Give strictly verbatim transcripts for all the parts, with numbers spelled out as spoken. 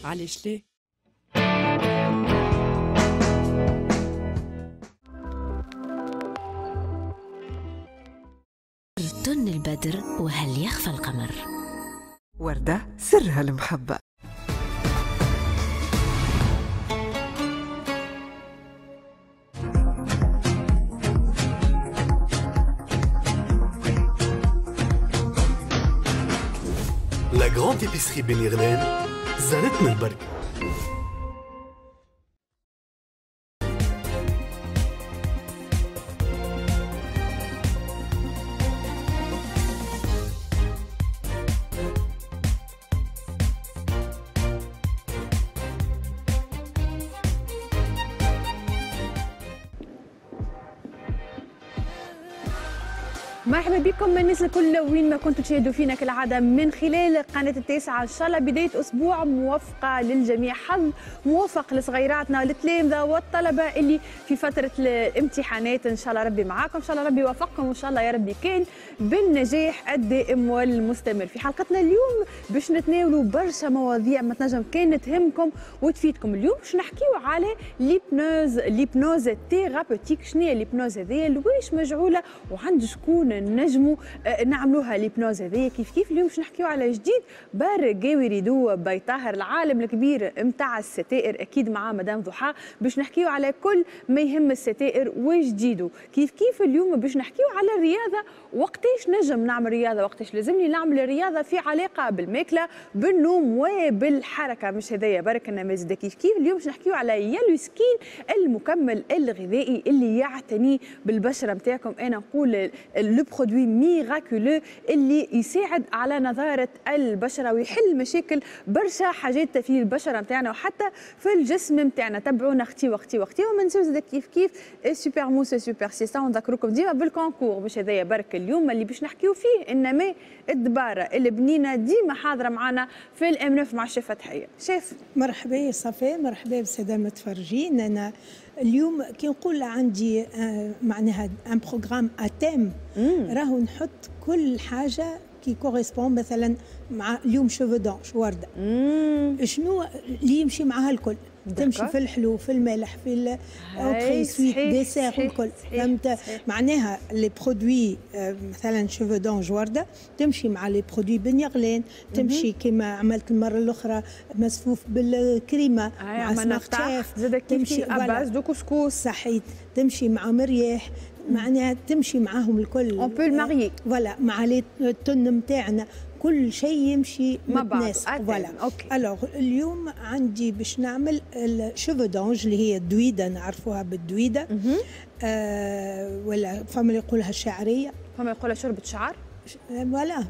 علاش ليه؟ تن البدر وهل يخفى القمر. وردة سرها المحبة. La grande épicerie بني غلان زارتنا البركة. مرحبا بكم الناس الكل وين ما كنتوا تشاهدوا فينا كالعادة من خلال قناة التاسعة. ان شاء الله بداية اسبوع موفقة للجميع، حظ موفق لصغيراتنا التلامذه والطلبة اللي في فترة الامتحانات. ان شاء الله ربي معاكم، ان شاء الله ربي يوفقكم، وان شاء الله يا ربي كان بالنجاح الدائم والمستمر. في حلقتنا اليوم باش نتناولوا برشا مواضيع ما تنجم كان تهمكم وتفيدكم. اليوم باش نحكيو على l'hypnose، l'hypnose thérapeutique. شنو هي l'hypnose هذيا، لواش مجعوله وعند شكون نجموا نعملوها l'hypnose هذيا؟ كيف كيف اليوم باش نحكيو على جديد برقاوي rideaux بيطاهر، العالم الكبير نتاع الستائر، اكيد مع مدام ضحى باش نحكيو على كل ما يهم الستائر وجديدة. كيف كيف اليوم باش نحكيو على الرياضة، وقتاش نجم نعمل رياضة، وقتاش لازمني نعمل رياضة في علاقة بالماكله بالنوم وبالحركه. مش هذايا برك النماذج. كيف كيف اليوم باش نحكيو على يالو سكين، المكمل الغذائي اللي يعتني بالبشره نتاعكم. انا نقول le produit miraculeux اللي يساعد على نضاره البشرة ويحل مشاكل برشا حاجات في البشرة نتاعنا وحتى في الجسم نتاعنا. تبعونا اختي واختي واختي، وما نساوش زاد كيف كيف super mousse super siesta، ونذكركم ديما بال concours. مش هذايا برك اليوم اللي باش نحكيو فيه، انما الدباره البنينه ديما حاضره معنا في الام مع الشيف فتحيه. شيف مرحبا يا صفاء، مرحبا بالساده المتفرجين. انا اليوم كي نقول عندي معناها un programme à thème، راهو نحط كل حاجة qui correspond. مثلا مع اليوم cheveux d'ange ورده، شنو اللي يمشي معها الكل؟ تمشي في الحلو في المالح في ال entrée suite dessert الكل، فهمت؟ معناها les produits مثلا cheveux d'ange ورده تمشي مع les produits بن يغلان، تمشي كما عملت المرة الاخرى مسفوف بالكريمه مع سمارت شيف، تمشي à base de couscous صحيت، تمشي مع مرياح، معناها تمشي معاهم الكل. on peut marier voilà مع les thons نتاعنا، كل شيء يمشي مع بعض. voilà alors اليوم عندي باش نعمل ال cheveux d'ange اللي هي الدويده، نعرفوها بالدويده آه ولا فما اللي يقولها الشعرية، فما يقولها شوربة شعر. voilà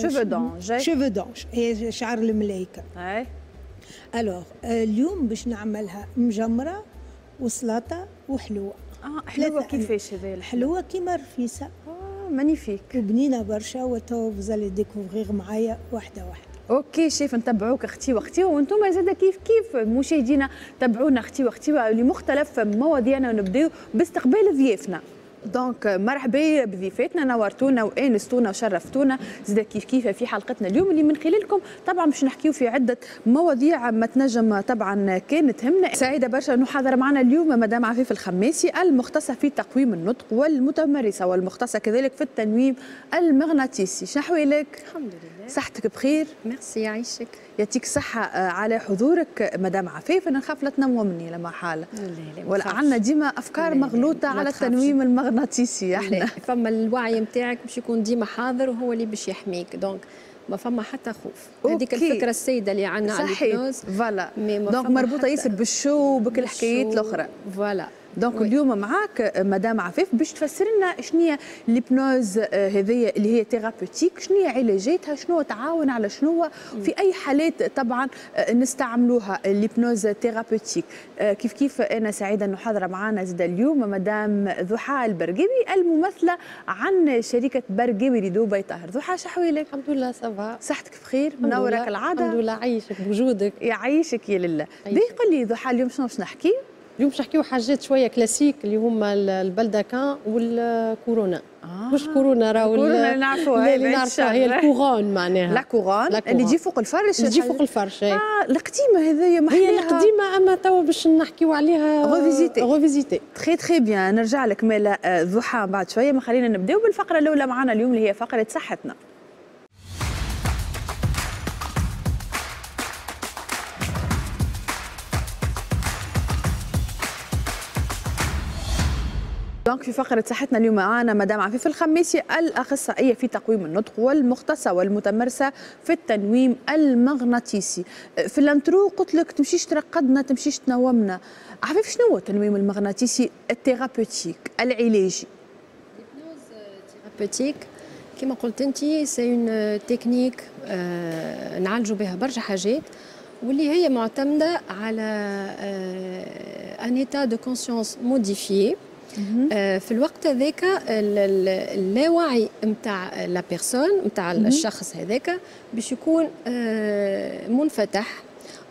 cheveux d'ange، cheveux d'ange هي شعر الملايكه. اي alors اليوم باش نعملها مجمره وسلطة وحلوه. اه حلوة كيفاش هذا؟ حلوة كيما الرفيسه. اه magnifique وبنينه برشا، وتو vous allez découvrir معايا واحدة واحدة. OK chef، نتبعوك اختي واختي، وانتم زاد كيف كيف مشاهدينا تبعونا اختي واختي لمختلف مواضيعنا، ونبداو باستقبال ضيافنا. donc مرحبا بضيفاتنا، نورتونا وانستونا وشرفتونا زاد كيف كيف في حلقتنا اليوم اللي من خلالكم طبعا باش نحكيو في عده مواضيع ما تنجم طبعا كانت تهمنا. سعيدة برشا انه حاضره معنا اليوم مدام عفيف الخماسي، المختصة في تقويم النطق والمتمرسه والمختصه كذلك في التنويم المغناطيسي. شنو احوالك؟ الحمد لله، صحتك بخير؟ ميرسي يعيشك، يعطيك الصحة على حضورك مدام عفيف. أنا نخاف لا تنومني لما حالة، لا لا ولا عندنا ديما أفكار مغلوطة على التنويم المغناطيسي. احنا فما الوعي نتاعك باش يكون ديما حاضر وهو اللي باش يحميك، donc ما فما حتى خوف. هذيك الفكرة السيدة اللي عندنا على ال hypnose voilà، donc مربوطة ياسر بال show وبكل الحكايات الأخرى. voilà donc اليوم معاك مدام عفاف باش تفسر لنا شنو هي l'hypnose هذيا اللي هي thérapeutique، شنو هي علاجاتها، شنو تعاون على شنو، في اي حالات طبعا نستعملوها l'hypnose thérapeutique. كيف كيف انا سعيدة انه حاضره معنا زاد اليوم مدام ضحى البرقاوي الممثلة عن شركة برقاوي rideaux بيطاهر. ضحى شحوالك؟ الحمد لله ça va، صحتك بخير؟ منورة كالعادة. الحمد لله، عايشك بوجودك. يعيشك يا لله. باهي قل لي ضحى اليوم شنو باش نحكي؟ اليوم باش نحكيو حاجات شوية كلاسيك اللي هما ال baldaquin وال couronne. آه. مش كورونا راهو الكورونا اللي نعرفوها، اللي نعرفوها هي ال couronne معناها la couronne اللي تجي فوق الفرش، اللي تجي فوق الفرش. اه القديمة هذيا محلاها، هي القديمة اما توا باش نحكيو عليها revisitée. revisitée très très bien. نرجع لك مالا ضحى بعد شوية، ما خلينا نبداو بالفقره الاولى معنا اليوم اللي هي فقره صحتنا. donc في فقرة صحتنا اليوم معنا مدام عفيف الخميسي الأخصائية في تقويم النطق والمختصة والمتمرسة في التنويم المغناطيسي. في ال intro قلت لك تمشيش ترقدنا تمشيش تنومنا. عفيف شنو هو التنويم المغناطيسي ال thérapeutique العلاجي؟ ال thérapeutique كما قلت أنت c'est une technique نعالجوا بها برشا حاجات واللي هي معتمدة على un état de conscience modifié. في الوقت هذاك اللاوعي نتاع la personne نتاع الشخص هذاك باش يكون منفتح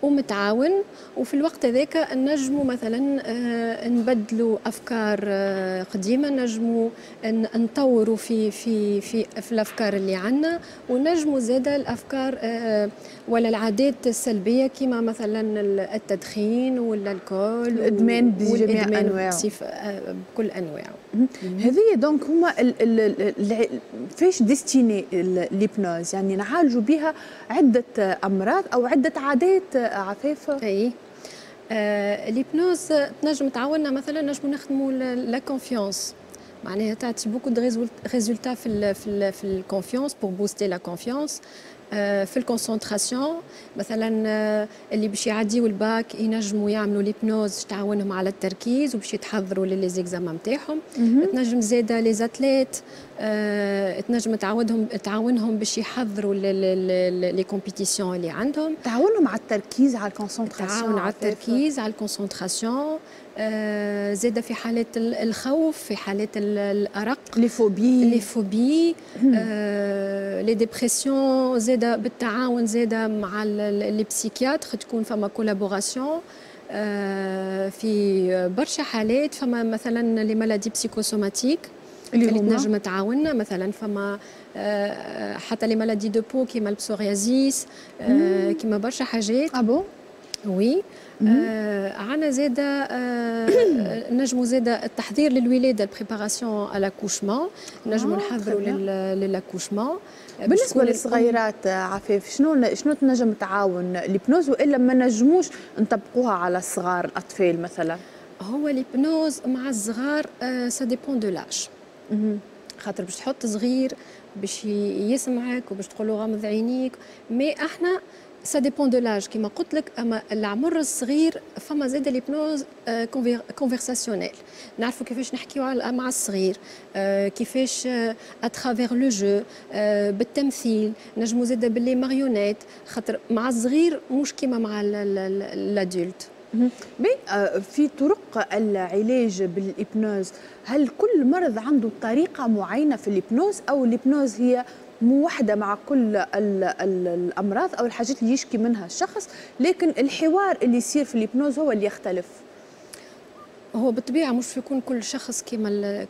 ومتعاون، وفي الوقت هذاك نجموا مثلا نبدلوا افكار قديمة، نجموا نطوروا في في في في الافكار اللي عندنا، ونجموا زاده الافكار ولا العادات السلبية كما مثلا التدخين ولا l'alcool، الادمان بجميع انواعه، بكل انواعه. هذه donc هما فاش destinée l'hypnose، يعني نعالجوا بها عده امراض او عده عادات عفاف. اي آه l'hypnose تنجم تعاوننا مثلا نجموا نخدموا la confiance، معناها تعطي beaucoup de résultats في ال في ال في ال confiance pour booster la confiance، في ال concentration مثلا اللي باش يعديو الباك ينجموا يعملوا l'hypnose تعاونهم على التركيز وباش يتحضروا les examens نتاعهم. تنجم زاده les athlètes تنجم تعاودهم تعاونهم باش يحضروا les compétitions اللي عندهم، تعاونهم على التركيز على ال concentration، تعاون على التركيز على ال concentration. زاده في حالات الخوف، في حالات الارق، les phobies، les phobies، les dépressions، زاده بالتعاون زاده مع les psychiatres تكون فما collaboration في برشا حالات. فما مثلا les maladies psychosomatiques اللي تنجم تعاوننا، مثلا فما حتى les maladies de peau كيما ال psoriasis، كيما برشا حاجات. ah bon oui. آه عندنا زاده آه نجموا زاده التحضير للولاده، ال préparation à l'accouchement، نجموا نحضروا لل accouchement. بالنسبة للصغيرات عفاف شنو شنو تنجم تعاون l'hypnose والا ما نجموش نطبقوها على الصغار الاطفال مثلا؟ هو l'hypnose مع الصغار ça dépend de l'âge، خاطر باش تحط صغير باش يسمعك وباش تقول له غمض عينيك، mais احنا ça dépend de l'âge كيما قلت لك. اما العمر الصغير فما زاد l'hypnose conversationnelle، نعرفوا كيفاش نحكيو مع الصغير، كيفاش à travers le jeu، بالتمثيل، نجمو زاد ب les marionnettes، خاطر مع الصغير مش كيما مع l'adulte. في طرق العلاج بال hypnose، هل كل مرض عنده طريقه معينة في ال hypnose او ال hypnose هي موحدة مع كل ال ال الامراض او الحاجات اللي يشكي منها الشخص، لكن الحوار اللي يصير في ال hypnose هو اللي يختلف؟ هو بالطبيعة مش يكون كل شخص كيما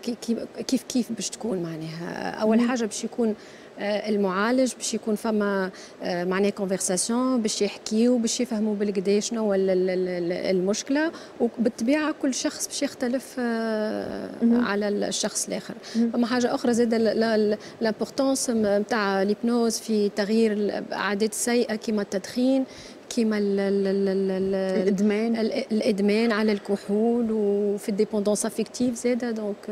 كيف كيف باش تكون معناها. اول حاجة باش يكون المعالج باش يكون فما معناها conversation باش يحكيو باش يفهموا بالكدا شنو هو المشكلة، وبالطبيعه كل شخص باش يختلف على الشخص الاخر. فما حاجة اخرى زاد l'importance نتاع l'hypnose في تغيير العادات السيئة كيما التدخين، كيما الادمان، الادمان على الكحول، وفي ال dépendance affective زاده. donc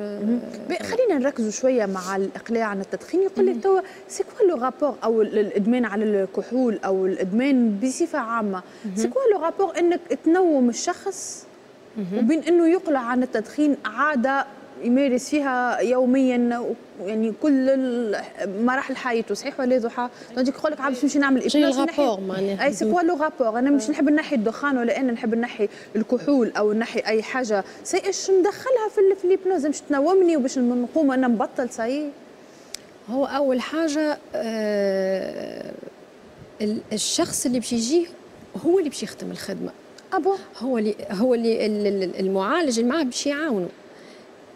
خلينا نركزوا شوية مع الاقلاع عن التدخين. يقول لك توا c'est quoi le rapport او الادمان على الكحول او الادمان بصفة عامة، c'est quoi le rapport انك تنوم الشخص وبين انه يقلع عن التدخين عادة يمارس فيها يوميا يعني كل مراحل حياته، صحيح ولا ضحى؟ donc يقول لك عاد باش نمشي نعمل hypnose rapport معناها اي c'est quoi le rapport، انا مش نحب نحي الدخان ولا انا نحب نحي الكحول او نحي اي حاجة c'est ايش ندخلها في في ال hypnose باش تنومني وباش نقوم انا نبطل سي. هو اول حاجة آه الشخص اللي باش يجيه هو اللي باش يخدم الخدمة. ah bon؟ هو اللي هو اللي المعالج اللي معاه باش يعاونه،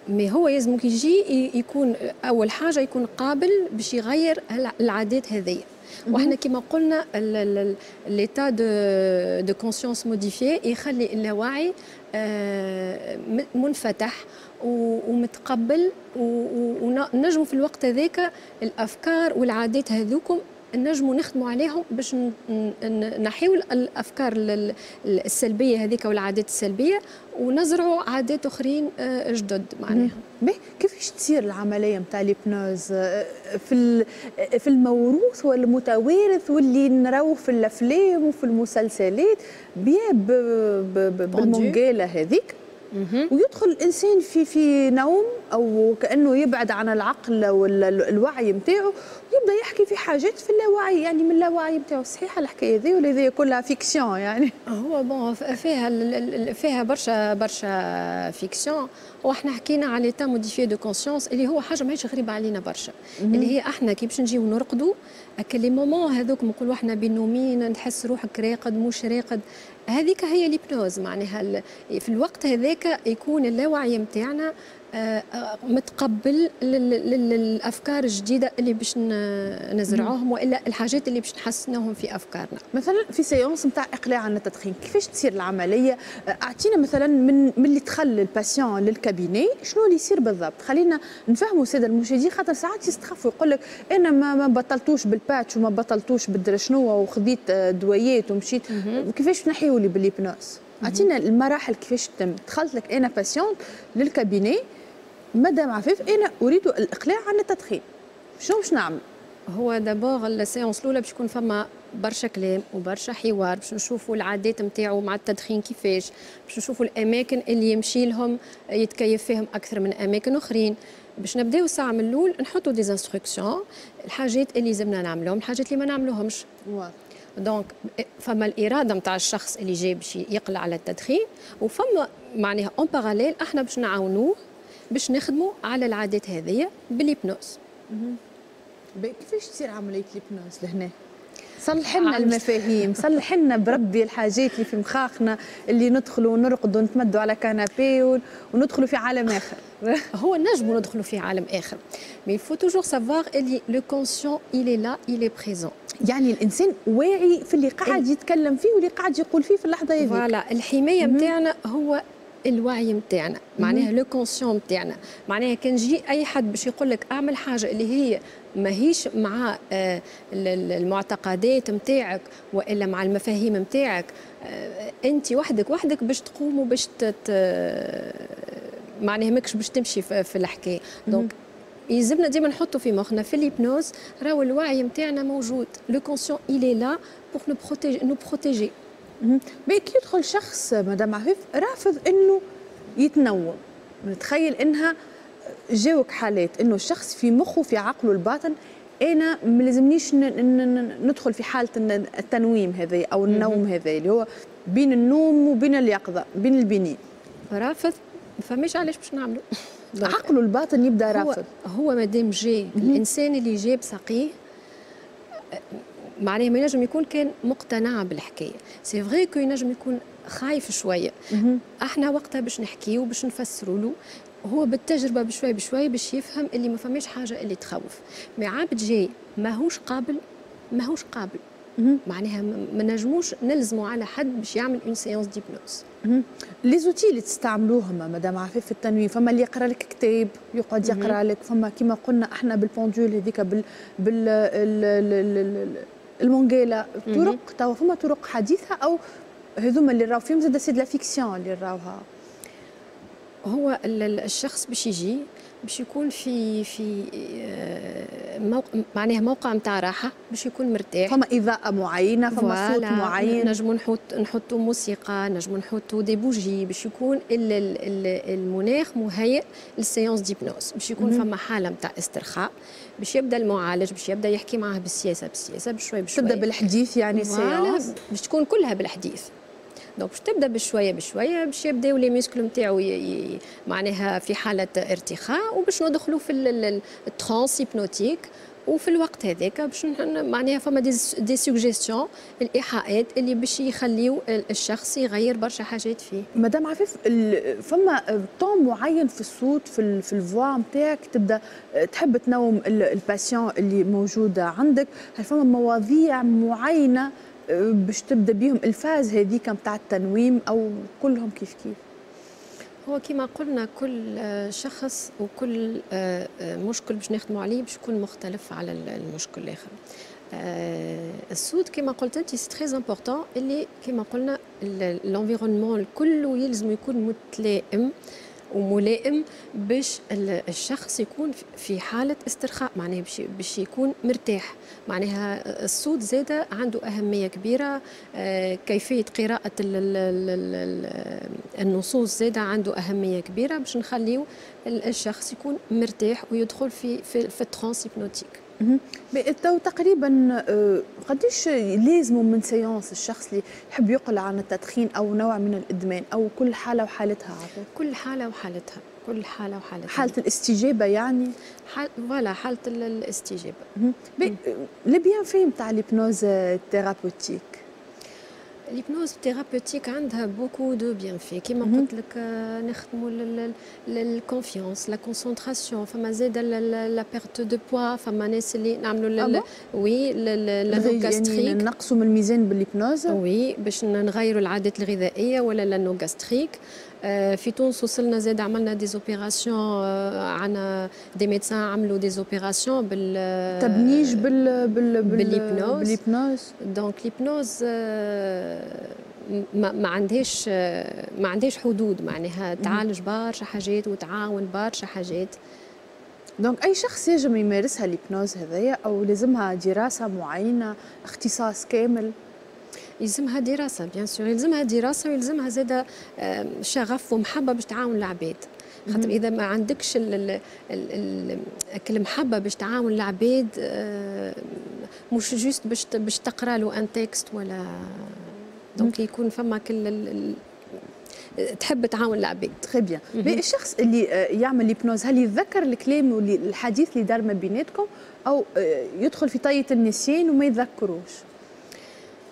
mais هو لازم كي يجي يكون اول حاجة يكون قابل باش يغير العادات هذيا. واحنا كما قلنا l'état de de conscience modifié يخلي اللاوعي آه، منفتح ومتقبل، ونجموا في الوقت هذاك الافكار والعادات هذوكم نجموا نخدموا عليهم باش نحيو الافكار السلبية هذيك والعادات السلبية ونزرعوا عادات اخرين آه، جدد معناها. باهي، كيفاش تصير العملية نتاع l'hypnose آه، في في الموروث والمتوارث واللي نراوه في الافلام وفي المسلسلات بيا بالمنقاله هذيك، ويدخل الانسان في في نوم او كانه يبعد عن العقل والوعي نتاعو، ويبدا يحكي في حاجات في اللاوعي، يعني من اللاوعي نتاعو؟ صحيحه الحكاية ذي ولا هذه كلها fiction يعني؟ هو bon، فيها فيها برشا برشا fiction، واحنا حكينا على l'état modifié de conscience اللي هو حاجة ماهيش غريبة علينا برشا، اللي هي احنا كي باش نجيو نرقدوا هكا les moments هذوك نقولوا احنا بين نومين، نحس روحك راقد مش راقد، هذيك هي l'hypnose. معناها في الوقت هذاك يكون اللاوعي نتاعنا آه، آه، متقبل للافكار الجديدة اللي باش نزرعوهم والا الحاجات اللي باش نحسنوهم في افكارنا. مثلا في séance نتاع اقلاع عن التدخين، كيفاش تصير العمليه؟ اعطينا مثلا من من اللي دخل ال patient لل cabinet شنو اللي يصير بالضبط، خلينا نفهموا السادة المشاهدين، خاطر ساعات يستخفوا، يقول لك انا ما ما بطلتوش بال patch وما بطلتوش بالدرا شنو وخذيت دوايات ومشيت، كيفاش تنحيوا لي بال hypnose؟ اعطينا المراحل كيفاش تتم. دخلت لك انا patiente لل cabinet، مدام عفيف، انا اريد الاقلاع عن التدخين، شنو باش نعمل؟ هو d'abord ال séance الاولى باش يكون فما برشا كلام وبرشا حوار باش نشوفوا العادات نتاعو مع التدخين كيفاش، باش نشوفوا الاماكن اللي يمشي لهم يتكيف فيهم اكثر من اماكن اخرين. باش نبداو الساعة من الاول نحطوا des instructions، الحاجات اللي لازمنا نعملوهم، الحاجات اللي ما نعملوهمش. donc فما الارادة نتاع الشخص اللي جاي باش يقلع على التدخين، وفما معناها en parallèle احنا باش نعاونوه باش نخدموا على العادات هذه بال hypnose. كيفاش تصير عملية l'hypnose لهنا؟ صلح لنا المفاهيم، صلح لنا بربي الحاجات اللي في مخاخنا، اللي ندخلوا ونرقدوا ونتمدوا على canapé وندخلوا في عالم اخر. هو نجموا ندخلوا في عالم اخر، mais il faut toujours savoir اللي le conscient il est là، il est présent. يعني الانسان واعي في اللي قاعد يتكلم فيه واللي قاعد يقول فيه في اللحظة هذيك. voilà، الحماية نتاعنا هو الوعي نتاعنا، معناها le conscient نتاعنا. معناها كان جي اي حد باش يقول لك اعمل حاجة اللي هي ماهيش مع آه، المعتقدات نتاعك والا مع المفاهيم نتاعك، آه، انت وحدك وحدك باش تقوم وباش معناها ماكش باش تمشي في الحكايه. donc يلزمنا ديما نحطوا في مخنا في l'hypnose راهو الوعي نتاعنا موجود، le conscient il est là pour nous protéger nous protéger. mais كي يدخل شخص، مدام عفيف، رافض انه يتنوم، نتخيل انها جاوك حالات انه الشخص في مخه، في عقله الباطن، انا ما لازمنيش ندخل في حاله التنويم هذا او النوم هذا اللي هو بين النوم وبين اليقظه، بين البنين. رافض، فماش علاش باش نعملوا. عقله الباطن يبدا رافض. هو, هو مادام جاي، الانسان اللي جاب ساقيه معناها ما ينجم يكون كان مقتنع بالحكايه. c'est vrai que ينجم يكون خايف شويه، احنا وقتها باش نحكيو، باش نفسروا له، هو بالتجربة بشوي بشوي باش يفهم اللي ما فماش حاجة اللي تخوف. mais عبد جاي ماهوش قابل، ماهوش قابل، معناها ما نجموش نلزموا على حد باش يعمل une séance d'hypnose. les outils اللي تستعملوهم مدام عفيف في التنويم، فما اللي يقرا لك كتاب يقعد يقرا لك، فما كما قلنا احنا بال pendule هذيك، بال بال المونجيلا، طرق توا فما طرق حديثه او هذوما اللي راهو فيهم زاد c'est la fiction اللي راوها؟ هو الشخص باش يجي باش يكون في في آه، موقع، معناها موقع نتاع راحه، باش يكون مرتاح. فما اضاءه معينه، فما صوت معين؟ نجموا نحط نحطوا موسيقى، نجموا نحطوا des bougies باش يكون المناخ مهيئ لل séance d'hypnose، باش يكون فما حاله نتاع استرخاء، باش يبدا المعالج باش يبدا يحكي معاه بالسياسة بالسياسه، بشوي بشوي. تبدا بالحديث يعني séance؟ باش تكون كلها بالحديث. donc باش تبدا بشوية بشوية، باش يبداو les muscles نتاعو معناها في حاله ارتخاء، وباش ندخلوا في ال transe hypnotique. وفي الوقت هذاك باش معناها فما des, des suggestions، الايحاءات اللي باش يخليو الشخص يغير برشا حاجات فيه. مدام عفيف، فما ton معين في الصوت، في في ال voix نتاعك، تبدا تحب تنوم ال patient اللي موجود عندك؟ هل فما مواضيع معينة باش تبدا بيهم ال phase هذيك نتاع التنويم او كلهم كيف كيف؟ هو كما قلنا، كل شخص وكل آه، آه، مشكل باش نخدموا عليه باش يكون مختلف على المشكل الاخر. آه، الصوت كما قلت انت c'est très important، اللي كما قلنا l'environnement الكل يلزم يكون متلائم وملائم باش الشخص يكون في حالة استرخاء، معناها باش باش يكون مرتاح. معناها الصوت زادة عنده أهمية كبيرة، آه، كيفية قراءة النصوص زادة عنده أهمية كبيرة باش نخليو الشخص يكون مرتاح ويدخل في في, في ال transe hypnotique. تو تقريبا آه، قديش لازم من séance الشخص اللي يحب يقلع عن التدخين او نوع من الادمان، او كل حاله وحالتها؟ عفوا. كل حاله وحالتها، كل حاله وحالتها. حاله الاستجابة يعني. حال voilà، حاله الاستجابه. les bienfaits نتاع l'hypnose thérapeutique؟ l'hypnose thérapeutique عندها beaucoup de bienfaits. كيما قلت لك، نخدموا ال confiance، la concentration، فما زاد la perte de poids، فما ناس اللي نعملوا oui l'anneau gastrique، يعني نقصوا من الميزان بال hypnose؟ oui، باش نغيروا العادات الغذائية ولا l'anneau gastrique. في تونس وصلنا زاد عملنا des opérations، عندنا des médecins عملوا des opérations بال تبنيج بال بال بال hypnose. بال hypnose. donc l'hypnose ما, ما عندهاش ما عندهاش حدود، معناها تعالج برشا حاجات وتعاون برشا حاجات. donc اي شخص يجم يمارسها l'hypnose هذايا، او لازمها دراسة معينه، اختصاص كامل؟ يلزمها دراسه، bien sûr يلزمها دراسه، ويلزمها زاده شغف ومحبه باش تعاون العباد، خاطر اذا ما عندكش المحبة باش تعاون العباد، آه، مش juste باش باش تقرا له un texte ولا، donc يكون فما كل تحب تعاون العباد. très bien. الشخص اللي آه، يعمل l'hypnose، هل يتذكر الكلام والحديث اللي دار ما بيناتكم، او آه، يدخل في طية النسيان وما يتذكروش؟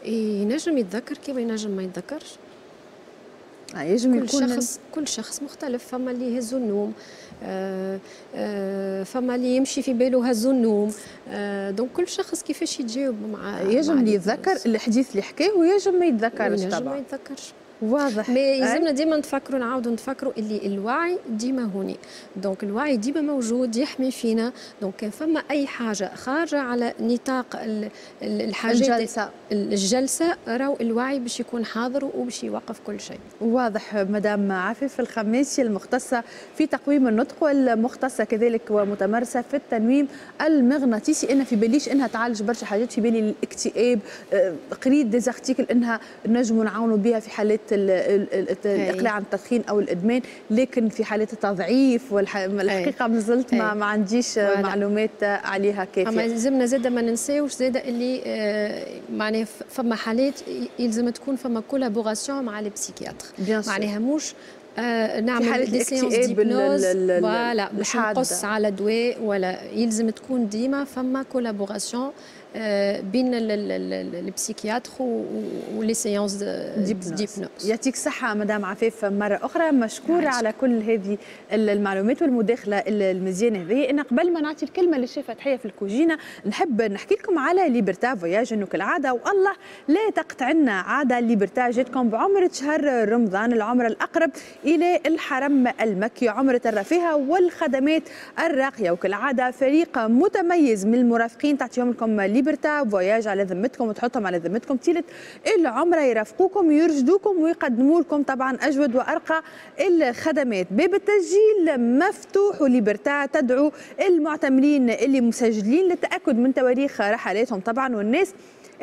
ينجم يتذكر كيما ينجم ما يتذكرش. آه ينجم كل يكون شخص كل شخص مختلف. فما اللي يهزوا النوم، آه آه فما اللي يمشي في باله هزوا النوم، آه donc كل شخص كيفاش يتجاوب مع يجم اللي يتذكر الحديث اللي حكاه ويجم ما يتذكرش. طبعا طبعا ما يتذكرش. واضح. mais يلزمنا ديما نتفكروا، نعاودوا نتفكروا اللي الوعي ديما هوني، donc الوعي ديما موجود يحمي فينا. donc كان فما اي حاجة خارجه على نطاق الحاجات الجلسه، الجلسه، راهو الوعي باش يكون حاضر وباش يوقف كل شيء. واضح. مدام عفيف الخماسي، المختصة في تقويم النطق والمختصه كذلك ومتمرسه في التنويم المغناطيسي، انا في باليش انها تعالج برشا حاجات، في بالي الاكتئاب، آه، قريت des articles انها نجموا نعاونوا بها في حالات الاقلاع عن التدخين او الادمان، لكن في حالات التضعيف والحقيقة مازلت ما, ما عنديش معلومات عليها كافيه. اما لازمنا زاد ما ننساوش زاد اللي آه، معناها فما حالات يلزم تكون فما collaboration مع les psychiatres، معناها مش آه نعمل des séances d'hypnose voilà باش نقص على دواء ولا، يلزم تكون ديما فما collaboration آه، بين ال psychiatre و les séances d'hypnose. يعطيك صحة مدام عفاف، مرة أخرى مشكورة على كل هذه المعلومات والمداخلة المزيانة هذه. أنا قبل ما نعطي الكلمة للشيف فتحية في الكوجينة، نحب نحكي لكم على Liberta Voyages، انه كالعادة والله لا تقطع لنا عادة، Liberta جاتكم بعمرة شهر رمضان، العمرة الأقرب إلى الحرم المكي، عمرة الرفاهة والخدمات الراقية. وكالعادة فريق متميز من المرافقين تعطيهم لكم Liberta Voyages على ذمتكم وتحطهم على ذمتكم طيلة العمره، يرافقوكم، يرشدوكم، ويقدموا لكم طبعا اجود وارقى الخدمات. باب التسجيل مفتوح، و Liberta تدعو المعتمرين اللي مسجلين للتاكد من تواريخ رحلاتهم طبعا، والناس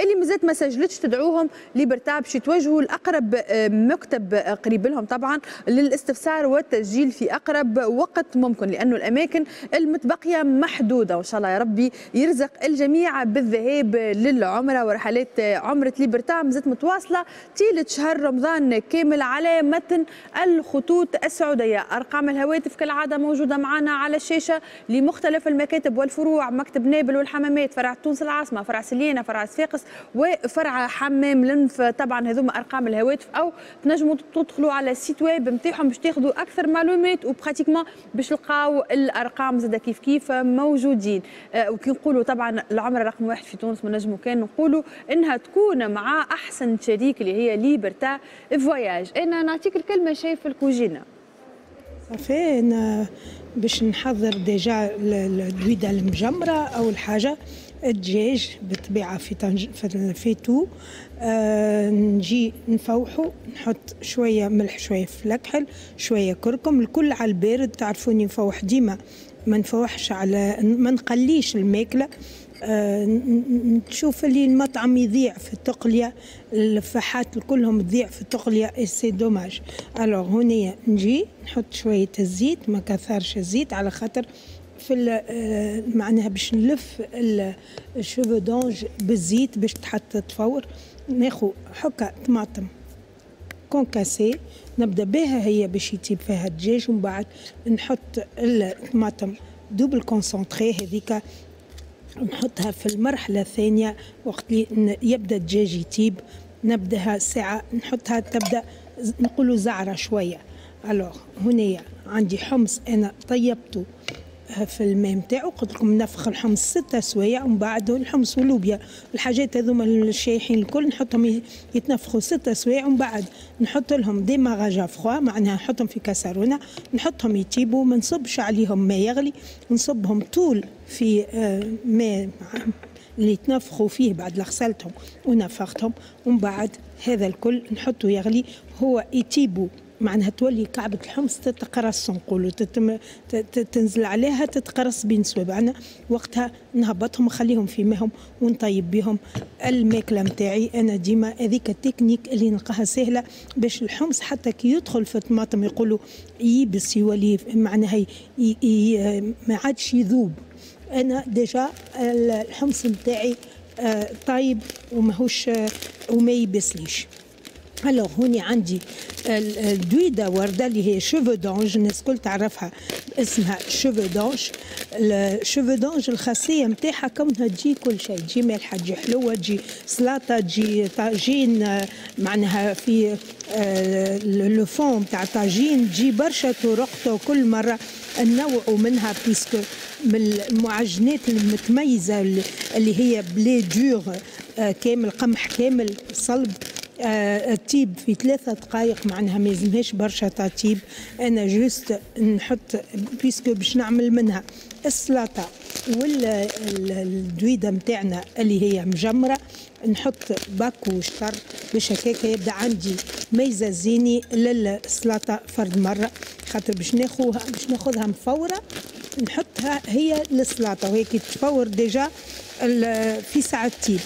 اللي مازالت ما سجلتش تدعوهم ليبرتا باش يتوجهوا لاقرب مكتب قريب لهم طبعا للاستفسار والتسجيل في اقرب وقت ممكن، لانه الاماكن المتبقية محدودة. وان شاء الله يا ربي يرزق الجميع بالذهاب للعمرة. ورحلات عمره ليبرتا مازالت متواصلة طيلة شهر رمضان كامل على متن الخطوط السعودية. ارقام الهواتف كالعادة موجودة معنا على الشاشة لمختلف المكاتب والفروع، مكتب نابل والحمامات، فرع تونس العاصمة، فرع سليانه، فرع صفاقس، وفرع حمام لنف. طبعا هذوما ارقام الهواتف، او تنجموا تدخلوا على ال site web نتاعهم باش تاخذوا اكثر معلومات، و pratiquement باش تلقاو الارقام زاده كيف كيف موجودين. أه وكي نقولوا طبعا العمرة رقم واحد في تونس ما نجموا كان نقولوا انها تكون مع احسن شريك اللي هي ليبرتا فواياج. انا نعطيك الكلمة شايف الكوجينه. صافي، انا باش نحضر déjà الدويده المجمره. اول حاجة الدجاج بالطبيعة في طنج في faitout، آه نجي نفوحو، نحط شوية ملح، شوية فلفل، شوية كركم، الكل على البارد. تعرفوني نفوح ديما، ما نفوحش على ما نقليش الماكله. آه نشوف اللي المطعم يضيع في التقليه، الفاحات كلهم تضيع في التقليه، c'est dommage. alors هنا نجي نحط شوية الزيت، ما كثرش الزيت على خاطر في معناها باش نلف ال cheveux d'ange بالزيت باش تحط تفور. ناخو حكه طماطم concassée نبدا بها هي باش يطيب فيها الدجاج، ومن بعد نحط الطماطم double concentrée هذيك نحطها في المرحلة الثانية وقت اللي يبدا الدجاج يطيب، نبداها ساعة نحطها تبدا نقولوا زعره شويه. alors هنايا عندي حمص انا طيبته في الماء نتاعو، قلت لكم نفخ الحمص ستة سوايع، ومن بعد الحمص واللوبيا الحاجات هذوما الشايحين الكل نحطهم يتنفخوا ستة سوايع، ومن بعد نحط لهم démarrage à froid، معناها نحطهم في كاسرونه نحطهم يطيبوا، ما نصبش عليهم ماء يغلي، نصبهم طول في ماء اللي تنفخوا فيه بعد غسلتهم ونفختهم، ومن بعد هذا الكل نحطه يغلي هو يطيبوا، معناها تولي كعبة الحمص تتقرص، نقولوا تتم تنزل عليها تتقرص بين صوابعنا. وقتها نهبطهم نخليهم في ماهم ونطيب بهم الماكلة نتاعي. انا ديما هذيك التكنيك اللي نلقاها سهلة باش الحمص حتى كي يدخل في الطماطم يقولوا يبس يولي معناها ما عادش يذوب. انا déjà الحمص نتاعي طايب وماهوش وما يبسليش. alors هوني عندي الدويده ورده اللي هي cheveux d'ange، الناس الكل تعرفها اسمها cheveux d'ange. ال cheveux d'ange الخاصية نتاعها كونها تجي كل شيء، تجي مالحه، تجي حلوه، تجي سلطه، تجي طاجين، معناها في le fond تاع طاجين، تجي برشا طرق كل مرة نوعوا منها، puisque من المعجنات المتميزة اللي هي blé dur كامل، قمح كامل صلب، تطيب في ثلاثة دقائق، معناها ما يلزمهاش برشا تطيب. انا juste نحط puisque باش نعمل منها السلطة والدويده نتاعنا اللي هي مجمره، نحط باكو شطر باش هكاك يبدا عندي ميزة زيني للسلطة فرد مرة، خاطر باش ناخوها باش ناخذها مفوره نحطها هي للسلطة، وهي كي تفور déjà في ساعة تطيب.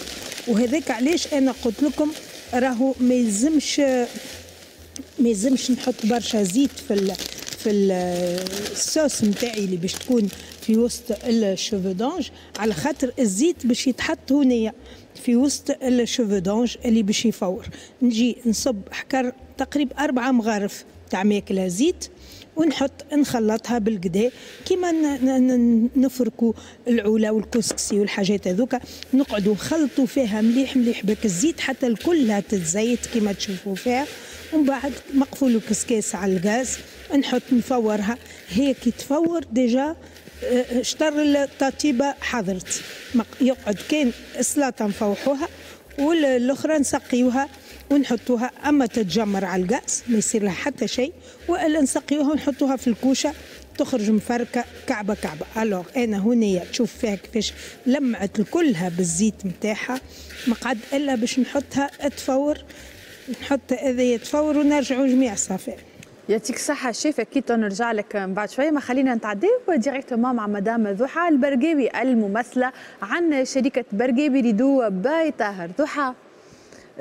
وهذاك علاش انا قلت لكم راهو ما يلزمش ما يلزمش نحط برشا زيت في ال في الصوص نتاعي اللي باش تكون في وسط ال cheveux d'ange، على خاطر الزيت باش يتحط هنايا في وسط ال cheveux d'ange اللي باش يفور. نجي نصب حكر تقريبا أربعة مغارف تاع ماكلة زيت، ونحط نخلطها بالقدا كيما نفركوا العوله والكسكسي والحاجات هذوكا، نقعدوا نخلطوا فيها مليح مليح بك الزيت حتى كلها تتزيت كيما تشوفوا فيها. ومن بعد مقفول الكسكاس على الغاز نحط نفورها، هي كي تفور déjà شطر التطيبه حضرت، يقعد كان السلطة نفوحوها والاخرى نسقيوها ونحطوها، اما تتجمر على الغاز ما يصير لها حتى شيء، والا نسقيوها ونحطوها في الكوشة تخرج مفركه كعبه كعبه. alors انا هنا تشوف فيها كيفاش لمعت كلها بالزيت نتاعها، ما قعد الا باش نحطها تفور، نحط هذه تفور ونرجعوا جميع صافي. يعطيك الصحة شيف، أكيد نرجع لك من بعد شوية، ما خلينا نتعداو directement مع مدام ضحى البرقاوي الممثلة عن شركة برقاوي rideaux by طاهر. ضحى،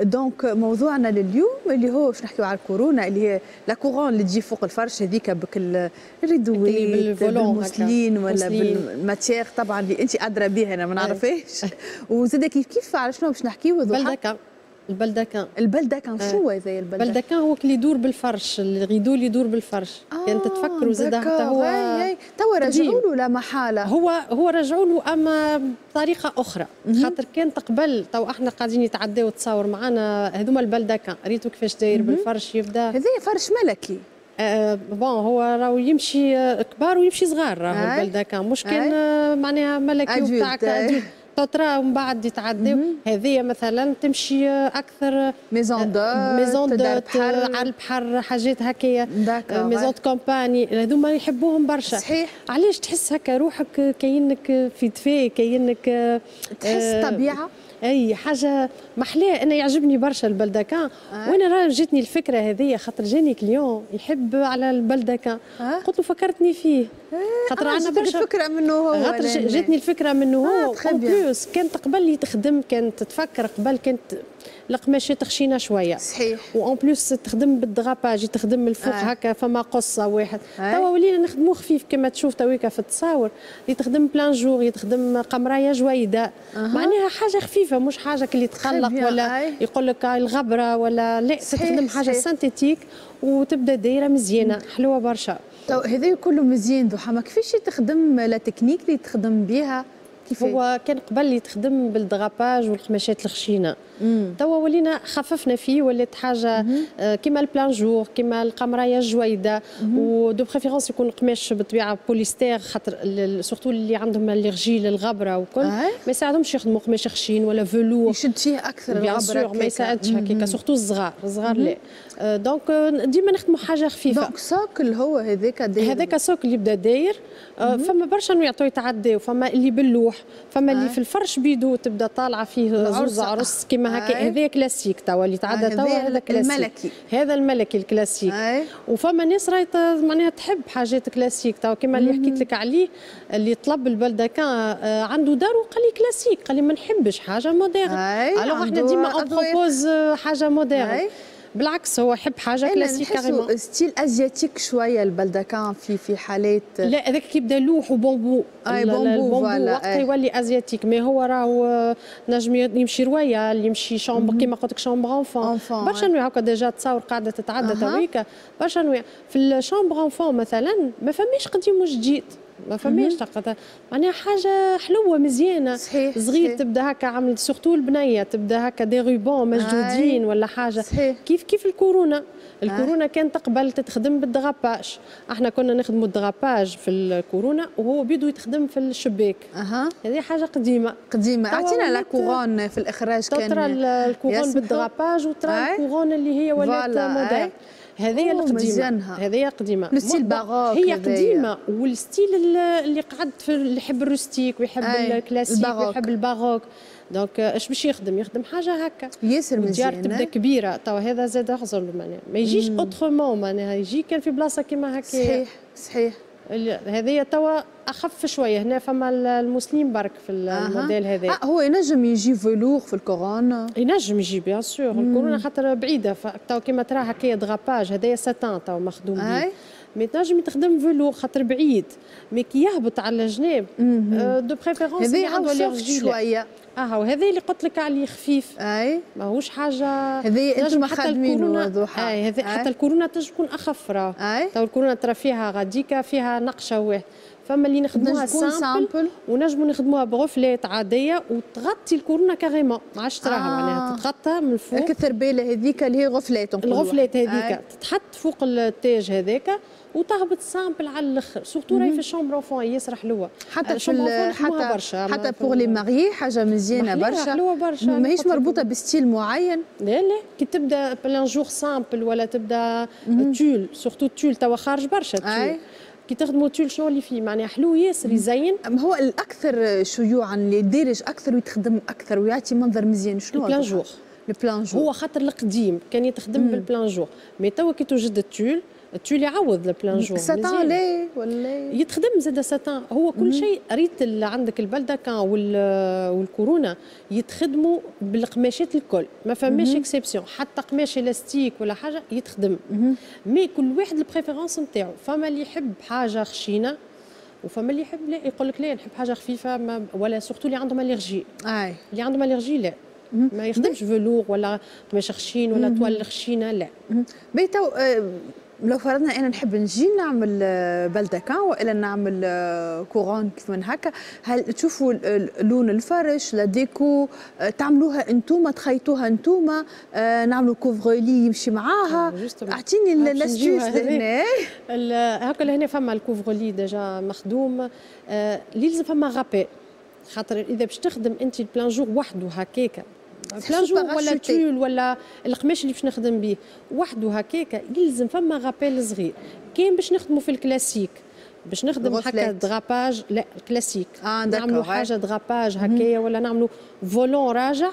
donc موضوعنا لليوم اللي هو باش نحكيو على الكورونا، اللي هي la couronne اللي تجي فوق الفرش هذيك بكل الريدوات بالموسلين ولا بال matière طبعا اللي انت ادرى بها، انا ما نعرفهاش. وزاد كيف كيف على شنو باش نحكيو ضحى؟ baldaquin، ال baldaquin. ال baldaquin شو هذا ال baldaquin؟ ال baldaquin هو اللي يدور بالفرش، ال rideau اللي يدور بالفرش. آه كان تتفكروا زاد حتى هو توا رجعوا له لا محالة. هو هو رجعوا له اما بطريقة اخرى، خاطر كان قبل تو احنا قاعدين يتعداو تصور معنا هذوما ال baldaquin، ريتو كيفاش داير بالفرش يبدا. هذا فرش ملكي. آه bon هو راهو يمشي كبار ويمشي صغار، راهو ال baldaquin مش كان آه معناها ملكي وبتاع ترى ومن بعد يتعداو. هذه مثلا تمشي اكثر maison d'hôtes، maison d'hôtes على البحر، حاجات هكايا، maison de campagne، هذوما يحبوهم برشا. صحيح. علاش تحس هكا روحك كاينك في دفاء، كاينك تحس طبيعة، اي حاجة محلاه. انا يعجبني برشا ال baldaquin آه. وانا راه جاتني الفكرة هذه خاطر جاني client يحب على ال baldaquin آه. قلت له فكرتني فيه خاطر آه عندنا برشا الفكرة منه هو. خاطر جاتني الفكرة منه هو. en plus كانت قبل تخدم، كانت تتفكر قبل كانت القماشات خشينه شوية. صحيح. و en plus تخدم بال drapage، تخدم من الفوق آه. هكا فما قصة واحد آه. توا ولينا نخدمو خفيف كما تشوف تويكا في التصاور، يتخدم plein jour، يتخدم قمرايه جويده آه. معناها حاجة خفيفة، مش حاجة اللي تقلق ولا آه. يقول لك الغبرة ولا لا. تخدم حاجة synthétique وتبدا دايرة مزيانه حلوة برشا. تو هذا كله مزيان ضحى، ما كيفاش تخدم la technique اللي تخدم بها؟ كيف هو كان قبل يتخدم بال drapage والقماشات الخشينه، توا ولينا خففنا فيه، ولات حاجة آه كيما ال plein jour، كيما القمرايه الجويده، و de préférence يكون القماش بالطبيعة بوليستير، خاطر surtout اللي عندهم allergie للغبره وكل ما يساعدهمش يخدموا قماش خشين ولا velours. يشد فيه اكثر الغبرة، ما يساعدش هكاك، surtout الصغار، الصغار لا. donc ديما نخدموا حاجة خفيفة. donc socle هو هذاك داير، هذاك socle اللي يبدا داير. فما برشا انواع يتعداو، فما اللي باللوح، فما اللي في الفرش بيدو تبدا طالعه فيه زوز عرس كيما هكا. هذا كلاسيك توا اللي تعدى توا، هذا كلاسيك الملكي، هذا الملكي الكلاسيك. وفما ناس راهي معناها تحب حاجات كلاسيك توا كيما اللي حكيت لك عليه اللي طلب ال baldaquin عنده دار وقال لي كلاسيك، قال لي ما نحبش حاجة moderne. alors احنا ديما on propose حاجة moderne، بالعكس هو يحب حاجة classique carrément. style asiatique شوية ال baldaquin في في حالات. لا هذاك كيبدا لوح وبامبو، اي bambou voilà وقتها يولي asiatique. mais هو راهو نجم يمشي royal، يمشي chambre كيما قلت لك chambre enfant، برشا انواع هكا déjà تصاور قاعدة تتعدى تويكا برشا انواع. في ال chambre enfant مثلا ما فماش قديم وجديد، ما فماش معناها حاجة حلوة مزيانه. صحيح. صغير صحيح. تبدا هكا عامل surtout البنية تبدا هكا des rubans مشدودين ولا حاجة. صحيح. كيف كيف الكورونا، الكورونا كانت قبل تتخدم بال drapage، احنا كنا نخدموا ال drapage في الكورونا وهو بيدو يتخدم في الشباك. اها هذه حاجة قديمة قديمة. اعطينا la couronne في الاخراج كان ترى ال couronne بال drapage وترى ال couronne اللي هي ولات موديل. هذه القديمة، هذه قديمة ال style baroque هي قديمة، وال style اللي قعد في اللي يحب ال rustique ويحب الكلاسيك ويحب ال baroque. donc اش باش يخدم؟ يخدم حاجة هكا ياسر مزيان، تبدا كبيرة. توا هذا زاد غزر معناها ما يجيش autrement، معناها يجي كان في بلاصة كيما هكا. صحيح صحيح. هذه توا اخف شوية، هنا فما المسلم برك في الموديل هذا. آه هو ينجم يجي velours في الكورونا، ينجم يجي bien sûr ال couronne خاطر بعيدة. توا كيما ترى هكايا drapage هذايا ساتان توا مخدوم به، mais تنجم تخدم velours خاطر بعيد، mais كي يهبط على الجناب de préférence هذا عنده شوية. اه وهذا اللي قلت لك عليه خفيف، اي ماهوش حاجة. هذه انتم خادمينه ضحى. اي هذه حتى الكورونا تنجم تكون اخف راه. تو الكورونا ترى فيها غاديكا فيها نقشه واحد، فما اللي نخدموها simple ونجموا نخدموها ب reflet عادية وتغطي ال couronne carrément، ما عادش تراها آه. معناها تتغطى من الفوق. الثربيله هذيك اللي هي reflet، ال reflet هذيك تتحط فوق التاج هذاك وتهبط simple على الاخر، surtout راهي في ال chambre enfant ياسر حلوة. حتى في حتى برشا حتى pour les mariées حاجة مزيانه برشا، حلوة برشا، ماهيش مربوطة ب style معين. لا لا كي تبدا plein jour simple ولا تبدا تول، surtout تول توا خارج برشا تول. كي تخدموا تول شنو اللي فيه معناها حلو ياسر يزين. هو الاكثر شيوعا اللي دارج اكثر ويتخدم اكثر ويعطي منظر مزيان شنو؟ ال plein jour. ال plein jour هو خاطر القديم كان يتخدم بال plein jour، mais توا كي توجد التول التول يعوض ال plein jour. ساتان لا ولا يتخدم زاد ساتان، هو كل شيء. ريت عندك ال baldaquin والكورونا يتخدموا بالقماشات الكل، ما فماش exception، حتى قماش الاستيك ولا حاجة يتخدم. mais كل واحد ال préférence نتاعو، فما اللي يحب حاجة خشينه وفما اللي يحب لا، يقول لك لا نحب حاجة خفيفة ما، ولا surtout اللي عندهم allergie. اي اللي عندهم allergie لا ما يخدمش velours ولا قماش خشين ولا toile خشينه لا. باهي تو لو فرضنا انا نحب نجي نعمل baldaquin والا نعمل couronne كيف من هكا، هل تشوفوا لون الفرش، la déco تعملوها انتوما، تخيطوها انتوما، نعملوا couvre-lit يمشي معاها؟ اعطيني l'astuce لهنا. هكا لهنا فما ال couvre-lit déjà مخدوم، اللي لازم فما rappel، خاطر اذا باش تخدم انت ال plein jour وحده هكاكا، plein jour ولا تول ولا القماش اللي باش نخدم به وحده هكاكا، يلزم فما rappel صغير. كاين باش نخدموا في الكلاسيك، باش نخدم هكا drapage، لا كلاسيك آه نعملوا حاجة drapage هكايا ولا نعملوا volant راجع،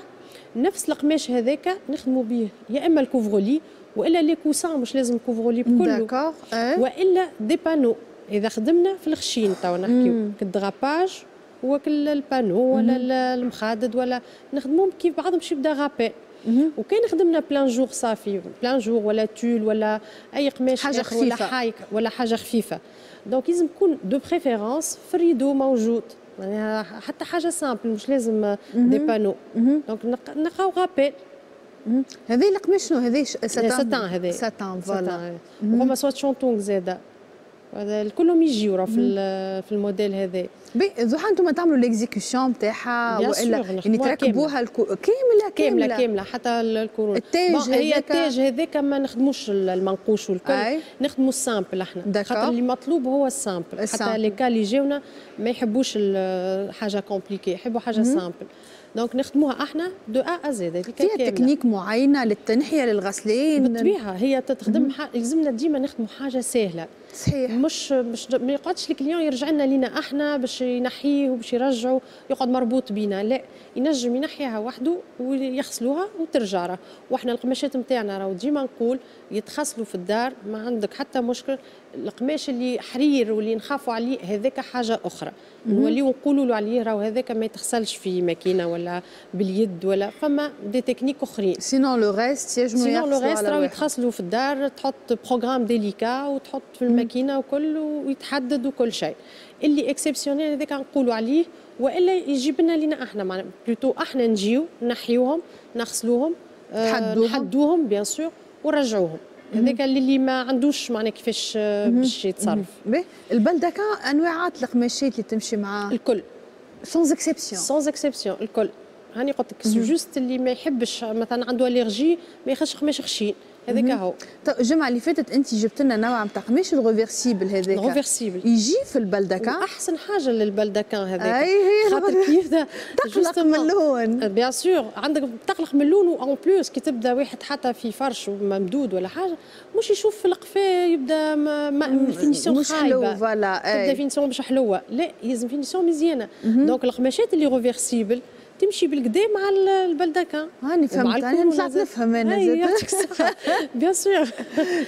نفس القماش هذاك نخدموا به يا اما ال couvre-lit والا les coussins، مش لازم couvre-lit بكله، والا des panneaux. اذا خدمنا في الخشين تو نحكيو كال drapage وكل ال panneau ولا المخادد ولا نخدموهم كيف بعضهم باش يبدا rappel. وكان خدمنا plein jour صافي، plein jour ولا تول ولا اي قماش حاجة خفيفة ولا حايك ولا حاجة خفيفه، donc لازم يكون de préférence في ال rideau موجود، يعني حتى حاجة simple مش لازم des panneaux، donc نلقاو rappel. هذه القماش شنو هذه؟ ساتان. ساتان هذا. ساتان voilà. وفما soie shantung زاده، هذا كلهم يجيو في في الموديل هذا. باهي ضحى، انتم تعملوا l'exécution نتاعها والا يعني تركبوها الكو... كاملة؟ كاملة كاملة حتى الكورونا. التاج؟ هي التاج هذاك ما نخدموش المنقوش والكل، نخدموا ال simple احنا، خاطر اللي مطلوب هو ال simple. حتى les cas اللي جاونا ما يحبوش حاجة compliquée، يحبوا حاجة simple، donc نخدموها احنا de A à Z. فيها تكنيك معينة للتنحيه، للغسلين؟ بالطبيعه، هي تخدم ح... لازمنا ديما نخدموا حاجة سهله. صحيح. مش مش ما يقعدش ال client يرجع لنا لينا احنا باش ينحيه وباش يرجعه، يقعد مربوط بينا. لا، ينجم ينحيها وحده ويغسلوها وترجع راه. واحنا القماشات نتاعنا راهو ديما نقول يتغسلوا في الدار، ما عندك حتى مشكل. القماش اللي حرير واللي نخافوا عليه هذاك حاجة اخرى، نوليو نقولوا له عليه راهو هذاك ما يتغسلش في ماكينة ولا باليد ولا فما des techniques اخرين. sinon le reste ينجموا؟ sinon le reste راهو يتغسلوا في الدار، تحط programme délicat وتحط في الماكينة وكل ويتحدد وكل شيء. اللي exceptionnel هذاك نقولوا عليه والا يجيب لنا لينا احنا، plutôt احنا نجيو نحيوهم، نغسلوهم، نحدوهم. نحدوهم bien sûr ونرجعوهم. هذاك اللي ما عندوش معناه كيفاش باش يتصرف. باهي، ال baldaquin انواعات القماشات اللي تمشي معاه؟ الكل. sans exception؟ sans exception الكل. هاني قلت لك، juste اللي ما يحبش مثلا عنده allergie ما ياخذش قماش خشين، هذاك هو. طيب الجمعة اللي فاتت انت جبت لنا نوع نتاع قماش ال réversible هذاك. ال réversible. يجي في ال baldaquin؟ احسن حاجة لل baldaquin هذاك. اي هي. خاطر كيف تقلق من اللون. bien sûr، عندك تقلق من اللون، و en plus كي تبدا واحد حتى في فرش ممدود ولا حاجه، مش يشوف في القفا يبدا ما finition مش حلو، voilà. تبدا finition مش حلوه. لا، لازم finition مزيانه، donc القماشات اللي réversibles تمشي بالقدا مع ال baldaquin. هاني فهمت، انا طلعت نفهم انا. زاد يعطيك الصحه، bien sûr.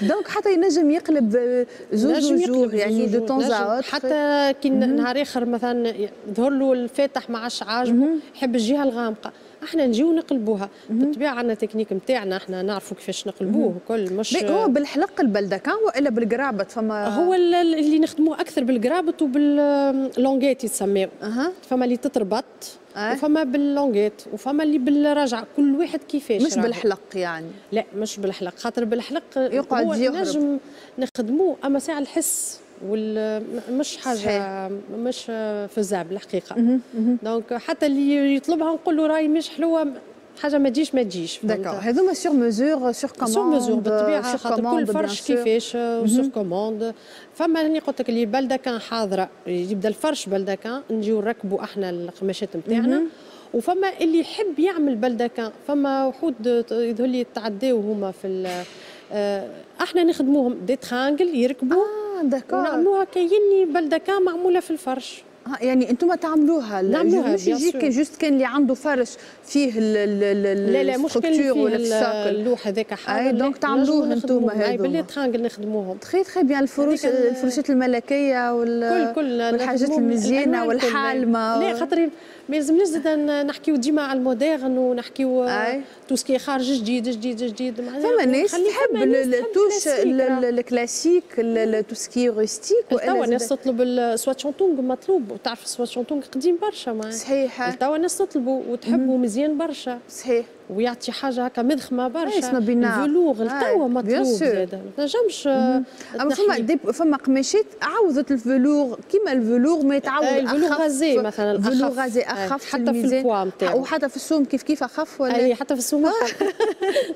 donc حتى ينجم يقلب زوج وجوه يعني de temps à حتى كي نهار اخر مثلا ظهر له الفاتح ما عادش عاجبه، يحب الجهة الغامقه، احنا نجيو نقلبوها. بالطبيعة عندنا تكنيك نتاعنا احنا، نعرفوا كيفاش نقلبوه وكل مش هو بالحلق ال baldaquin والا بالقرابط؟ فما هو اللي نخدموه اكثر بالقرابط وبال languettes يتسميو. أه. فما اللي تتربط أه. وفما بال languettes وفما اللي بالرجعه، كل واحد كيفاش. مش بالحلق يعني؟ لا، مش بالحلق، خاطر بالحلق يقعد يهرب. نجم نخدموه اما ساعة الحس وال مش حاجة صحيح. مش faisable الحقيقه، donc حتى اللي يطلبها نقول له راي مش حلوه، حاجة ما تجيش ما تجيش. d'accord، هذوما sur mesure، sur commande؟ sur mesure بالطبيعه، خاطر كل فرش كيفاش، sur commande. فما هني قلت لك اللي baldaquin حاضره، يبدا الفرش baldaquin، نجيو نركبوا احنا القماشات نتاعنا. وفما اللي يحب يعمل baldaquin، فما وحود يظهر لي تعداو هما في آه، احنا نخدموهم des tringles يركبوا اه d'accord ونعملوها كايني baldaquin معمولة في الفرش. يعني انتم تعملوها؟ نعملوها، مش يجيك juste كان اللي عنده فرش فيه ال لا لا، مش كان فيه اللوح هذاك حاضر. donc تعملوه انتم هذو بال les tringles نخدموهم. très très bien. الفروش، الفروشات الملكية وال كل كل والحاجات المزيانه والحالمه. لا، خاطر ما يلزمناش زاد نحكيو ديما على ال moderne ونحكيو tout ce qui خارج جديد جديد جديد. فما ناس تحب ال touche ال classique، tout ce qui rustique. توا الناس تطلب ال soie shantung، مطلوب، وتعرف ال soie shantung قديم برشا معناها. صحيح. توا الناس تطلبوا وتحبوا، مزيان برشا. صحيح. ويعطي حاجة هكا مضخمه برشا. ال velours توا مطلوب زاد، ما تنجمش. اما فما des فما قماشات عوضت ال velours، كيما ال velours ما يتعوض. ال velours rasé مثلا. ال velours rasé اخف. حتى في البوا نتاعو. وحتى في السوم كيف كيف اخف ولا؟ اي، حتى في السوم اخف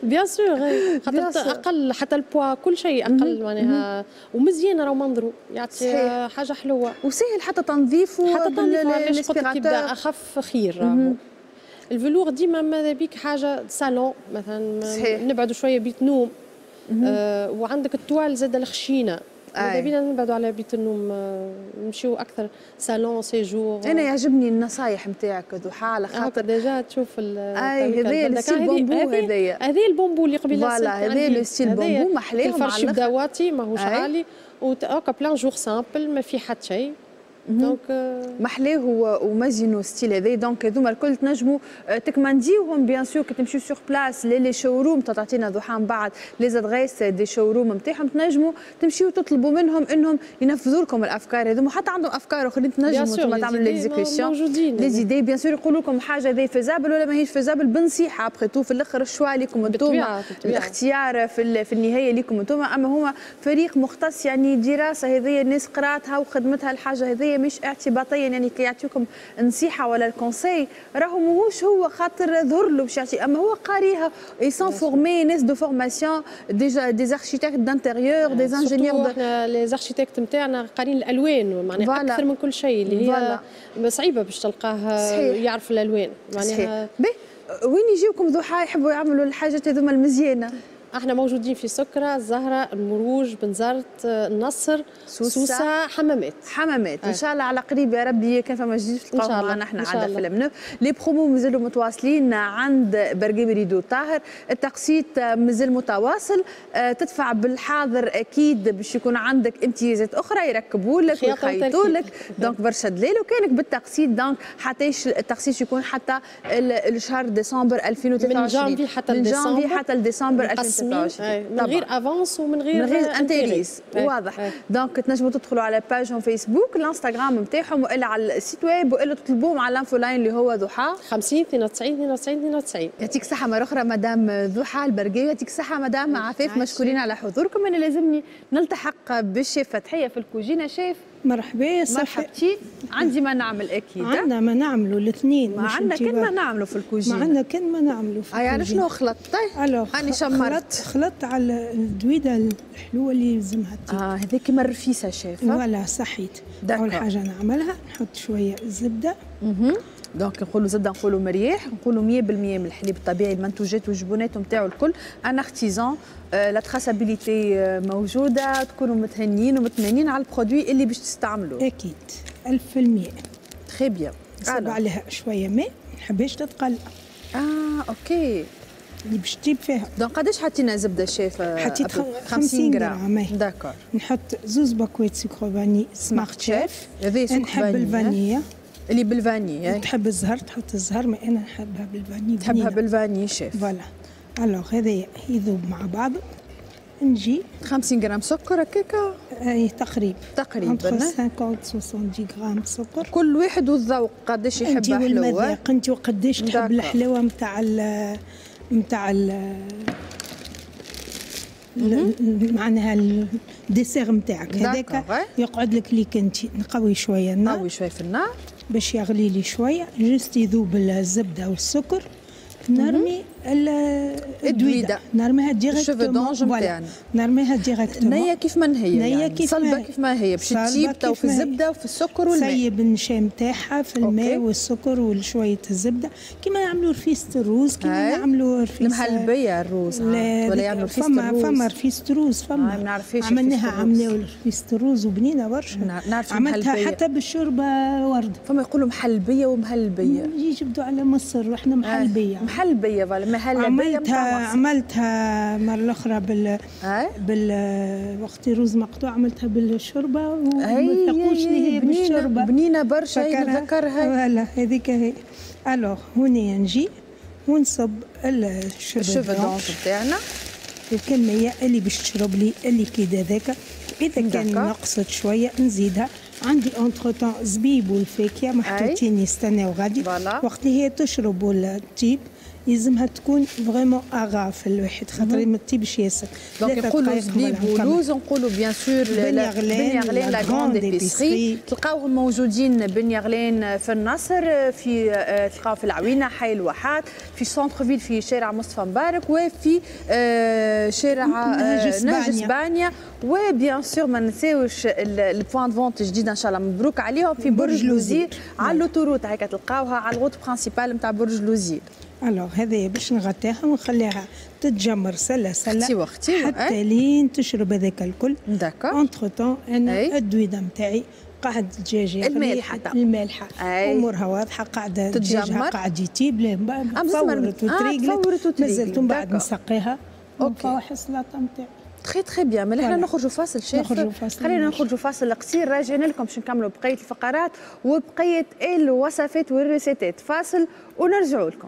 bien sûr، خاطر اقل، حتى البوا كل شيء اقل معناها، ومزيان راهو منظرو، يعطي حاجة حلوه. وسهل حتى تنظيفه. حتى تنظيفه، علاش قلت لك يبدا اخف خير. راهو ال velours ديما ماذا بيك حاجة صالون مثلا. صحيح. نبعدوا شوية بيت نوم. آه وعندك ال toile زاد الخشينه، ماذا بينا نبعدوا على بيت النوم، آه، نمشيو اكثر salon séjour. انا يعجبني النصايح نتاعك ضحى على خاطر déjà تشوف. اي، هذايا ال style bambou هذايا. هذا البومبو اللي قبيلة. voilà، هذا le style bambou محلاه. الفرش يبدا واطي، ماهوش عالي، وهكا plein jour simple، ما في حتى شيء. donc محلاه ومزينو style هذا. donc هذوما الكل تنجموا آه، تكمانديوهم bien sûr كي تمشيو sur place les les showrooms. تعطينا ضحى من بعد les adresses des showrooms نتاعهم، تنجموا تمشيو تطلبوا منهم انهم ينفذوا لكم الافكار هذوما، حتى عندهم افكار اخرين تنجموا انتم تعملوا l'exécution les idées. bien sûr يقولوا لكم حاجة هذه faisable ولا ماهيش faisable بنصيحه. après tout في الاخر ال choix لكم انتم، الاختيار في في النهاية لكم انتم. اما هما فريق مختص، يعني دراسة هذه الناس قراتها وخدمتها الحاجة هذه، مش اعتباطيا. يعني كي يعطيكم نصيحة ولا ال conseil راهو ماهوش هو خاطر ظهر له باش يعطي، اما هو قاريها، ils sont formés، ناس de formation déjà، des architectes d'intérieur، des ingénieurs. احنا les architectes نتاعنا قارين الالوان معناها اكثر من كل شيء، اللي هي صعيبة باش تلقاه يعرف الالوان. معناها وين يجيوكم ضحى يحبوا يعملوا الحاجات هذوما المزيانه؟ احنا موجودين في سكرة، الزهرة، المروج، بنزرت، النصر، سوسة، سوسة، حمامات. حمامات ان شاء الله على قريب يا ربي، كان فما جديد تلقاو معنا احنا عند فيلم. les promos مازالوا متواصلين عند برقيبي rideaux طاهر، التقسيط مازال متواصل، آه، تدفع بالحاضر اكيد باش يكون عندك امتيازات اخرى، يركبوا لك ويخيطوا لك، donc برشا دليل. وكانك بالتقسيط donc حتى التقسيط يكون حتى الشهر ديسمبر ألفين وثلاثة وعشرين. من جانفي حتى من جانفي حتى لديسمبر ألفين وثلاثة وعشرين. من غير avance ومن غير من غير intérêts، واضح. donc تنجموا تدخلوا على page هم فيسبوك، الانستغرام نتاعهم، والا على ال site web، والا تطلبوهم على ال info line اللي هو ضحى خمسين اثنين وتسعين اثنين وتسعين اثنين وتسعين. يعطيك الصحة مرة أخرى مدام ضحى البرقاوي، يعطيك الصحة مدام عفاف، مشكورين على حضوركم. أنا لازمني نلتحق بالشيف فتحية في الكوجينة. شيف. مرحبا صافي. مرحبتي، عندي ما نعمل اكيد. عندنا ما نعملوا الاثنين. ما عندنا كان ما نعملوا في الكوجينه. ما عندنا كان ما نعملوا في الكوجينه. يعني شنو خلطت؟ هاني شمرت. خلطت على الدويده الحلوة اللي يلزمها. اه، هذيك كيما الرفيسه شيف. voilà، صحيت. اول حاجة نعملها نحط شوية زبده. اها، donc نقولوا زبده، نقولوا مريح، نقولوا مية بالمية من الحليب الطبيعي، المنتوجات والجبونات نتاعو الكل un artisan، la traçabilité موجوده، تكونوا متهنيين ومطمئنين على ال produit اللي باش تستعملوه. اكيد ألف في المية. très bien. نصب عليها شوية ماء، ما نحبهاش تتقلى. اه OK. اللي باش تجيب فيها. donc قداش حطينا زبدة شيف؟ حطيت خمسين غرام. d'accord. نحط زوز باكوات sucre vanillé Smart Chef. هذه نحب الفانية. اللي بال vanille. تحب الزهر تحط الزهر، ما انا نحبها بال vanille. تحبها بال vanille chef. voilà، alors هذا يذوب مع بعض، نجي خمسين غرام سكر هكاكا. اي تقريب. تقريبا خمسين سبعين غرام سكر. كل واحد والذوق قداش يحب حلوه. والمذاق انت وقداش تحب الحلاوة نتاع نتاع معناها ال dessert نتاعك هذاك يقعد لك ليك انت. نقوي شوية النار. نقوي شوية في النار. باش يغلي لي شويه، juste يذوب الزبدة والسكر، نرمي الدويده، نرميها directement نتاعنا، نرميها directement نيه كيف ما هي، نيه يعني كيف صلبه كيف ما هي، باش تطيب تو في الزبدة وفي السكر والماء. سيب النشا نتاعها في الماء والسكر وشوية الزبدة، كيما نعملوا رفيسه الروز، كيما نعملوا رفيسه المحلبيه الروز، ولا يعملوا رفيسه الروز. فما فما رفيسه روز، فما ما نعرفش عملناها، عملناها رفيسه الروز وبنينه برشا، نعرف عملتها حتى بالشوربه ورده. فما يقولوا محلبيه ومهلبيه، يجبدوا على مصر واحنا محلبيه. محلبيه voilà، مهلبية. عملتها عملتها مرة الاخرى بال بال وقت روز مقطوع، عملتها بالشوربه وما ثقوش اللي هي بالشوربه، بنينه برشا نتذكرها. voilà هذيك هي. alors هوني نجي ونصب ال cheveux d'ange تاعنا، الكمية اللي باش تشرب لي ال liquide هذاك. اذا كان نقصت شوية نزيدها. عندي entre-temps زبيب والفاكهه محطوطين يستناو غادي. وقت اللي هي تشرب ولا تطيب يلزمها تكون vraiment à ras في الواحد، خاطر ما تطيبش ياسر. donc نقولوا زبيب ولوز، نقولوا bien sûr بن يغلان la grande épicerie، تلقاوهم موجودين بن يغلان في النصر، في تلقاو في العوينة حي الواحات، في centre-ville في شارع مصطفى مبارك، وفي شارع نهج اسبانيا، و bien sûr ما نساوش ال point de vente الجديدة ان شاء الله مبروك عليهم في برج لوزير على l'autoroute، هكا تلقاوها على ال route principale نتاع برج لوزير. alors هذايا باش نغطيها ونخليها تتجمر سله سله وقتي حتى لين تشرب هذاك الكل. d'accord. entre-temps انا الدويده نتاعي قاعد الدجاج المالحه، المالحه امورها واضحة، قاعدة دجاجها قاعد يطيب، فورت وتريقلت، مازلت من بعد نسقيها ونفوح السلطة نتاعي. très très bien. ملي احنا نخرجوا فاصل شيف، خلينا نخرجوا فاصل قصير، راجعين لكم باش نكملوا بقية الفقرات وبقية الوصفات والريسيتات. فاصل ونرجعوا لكم.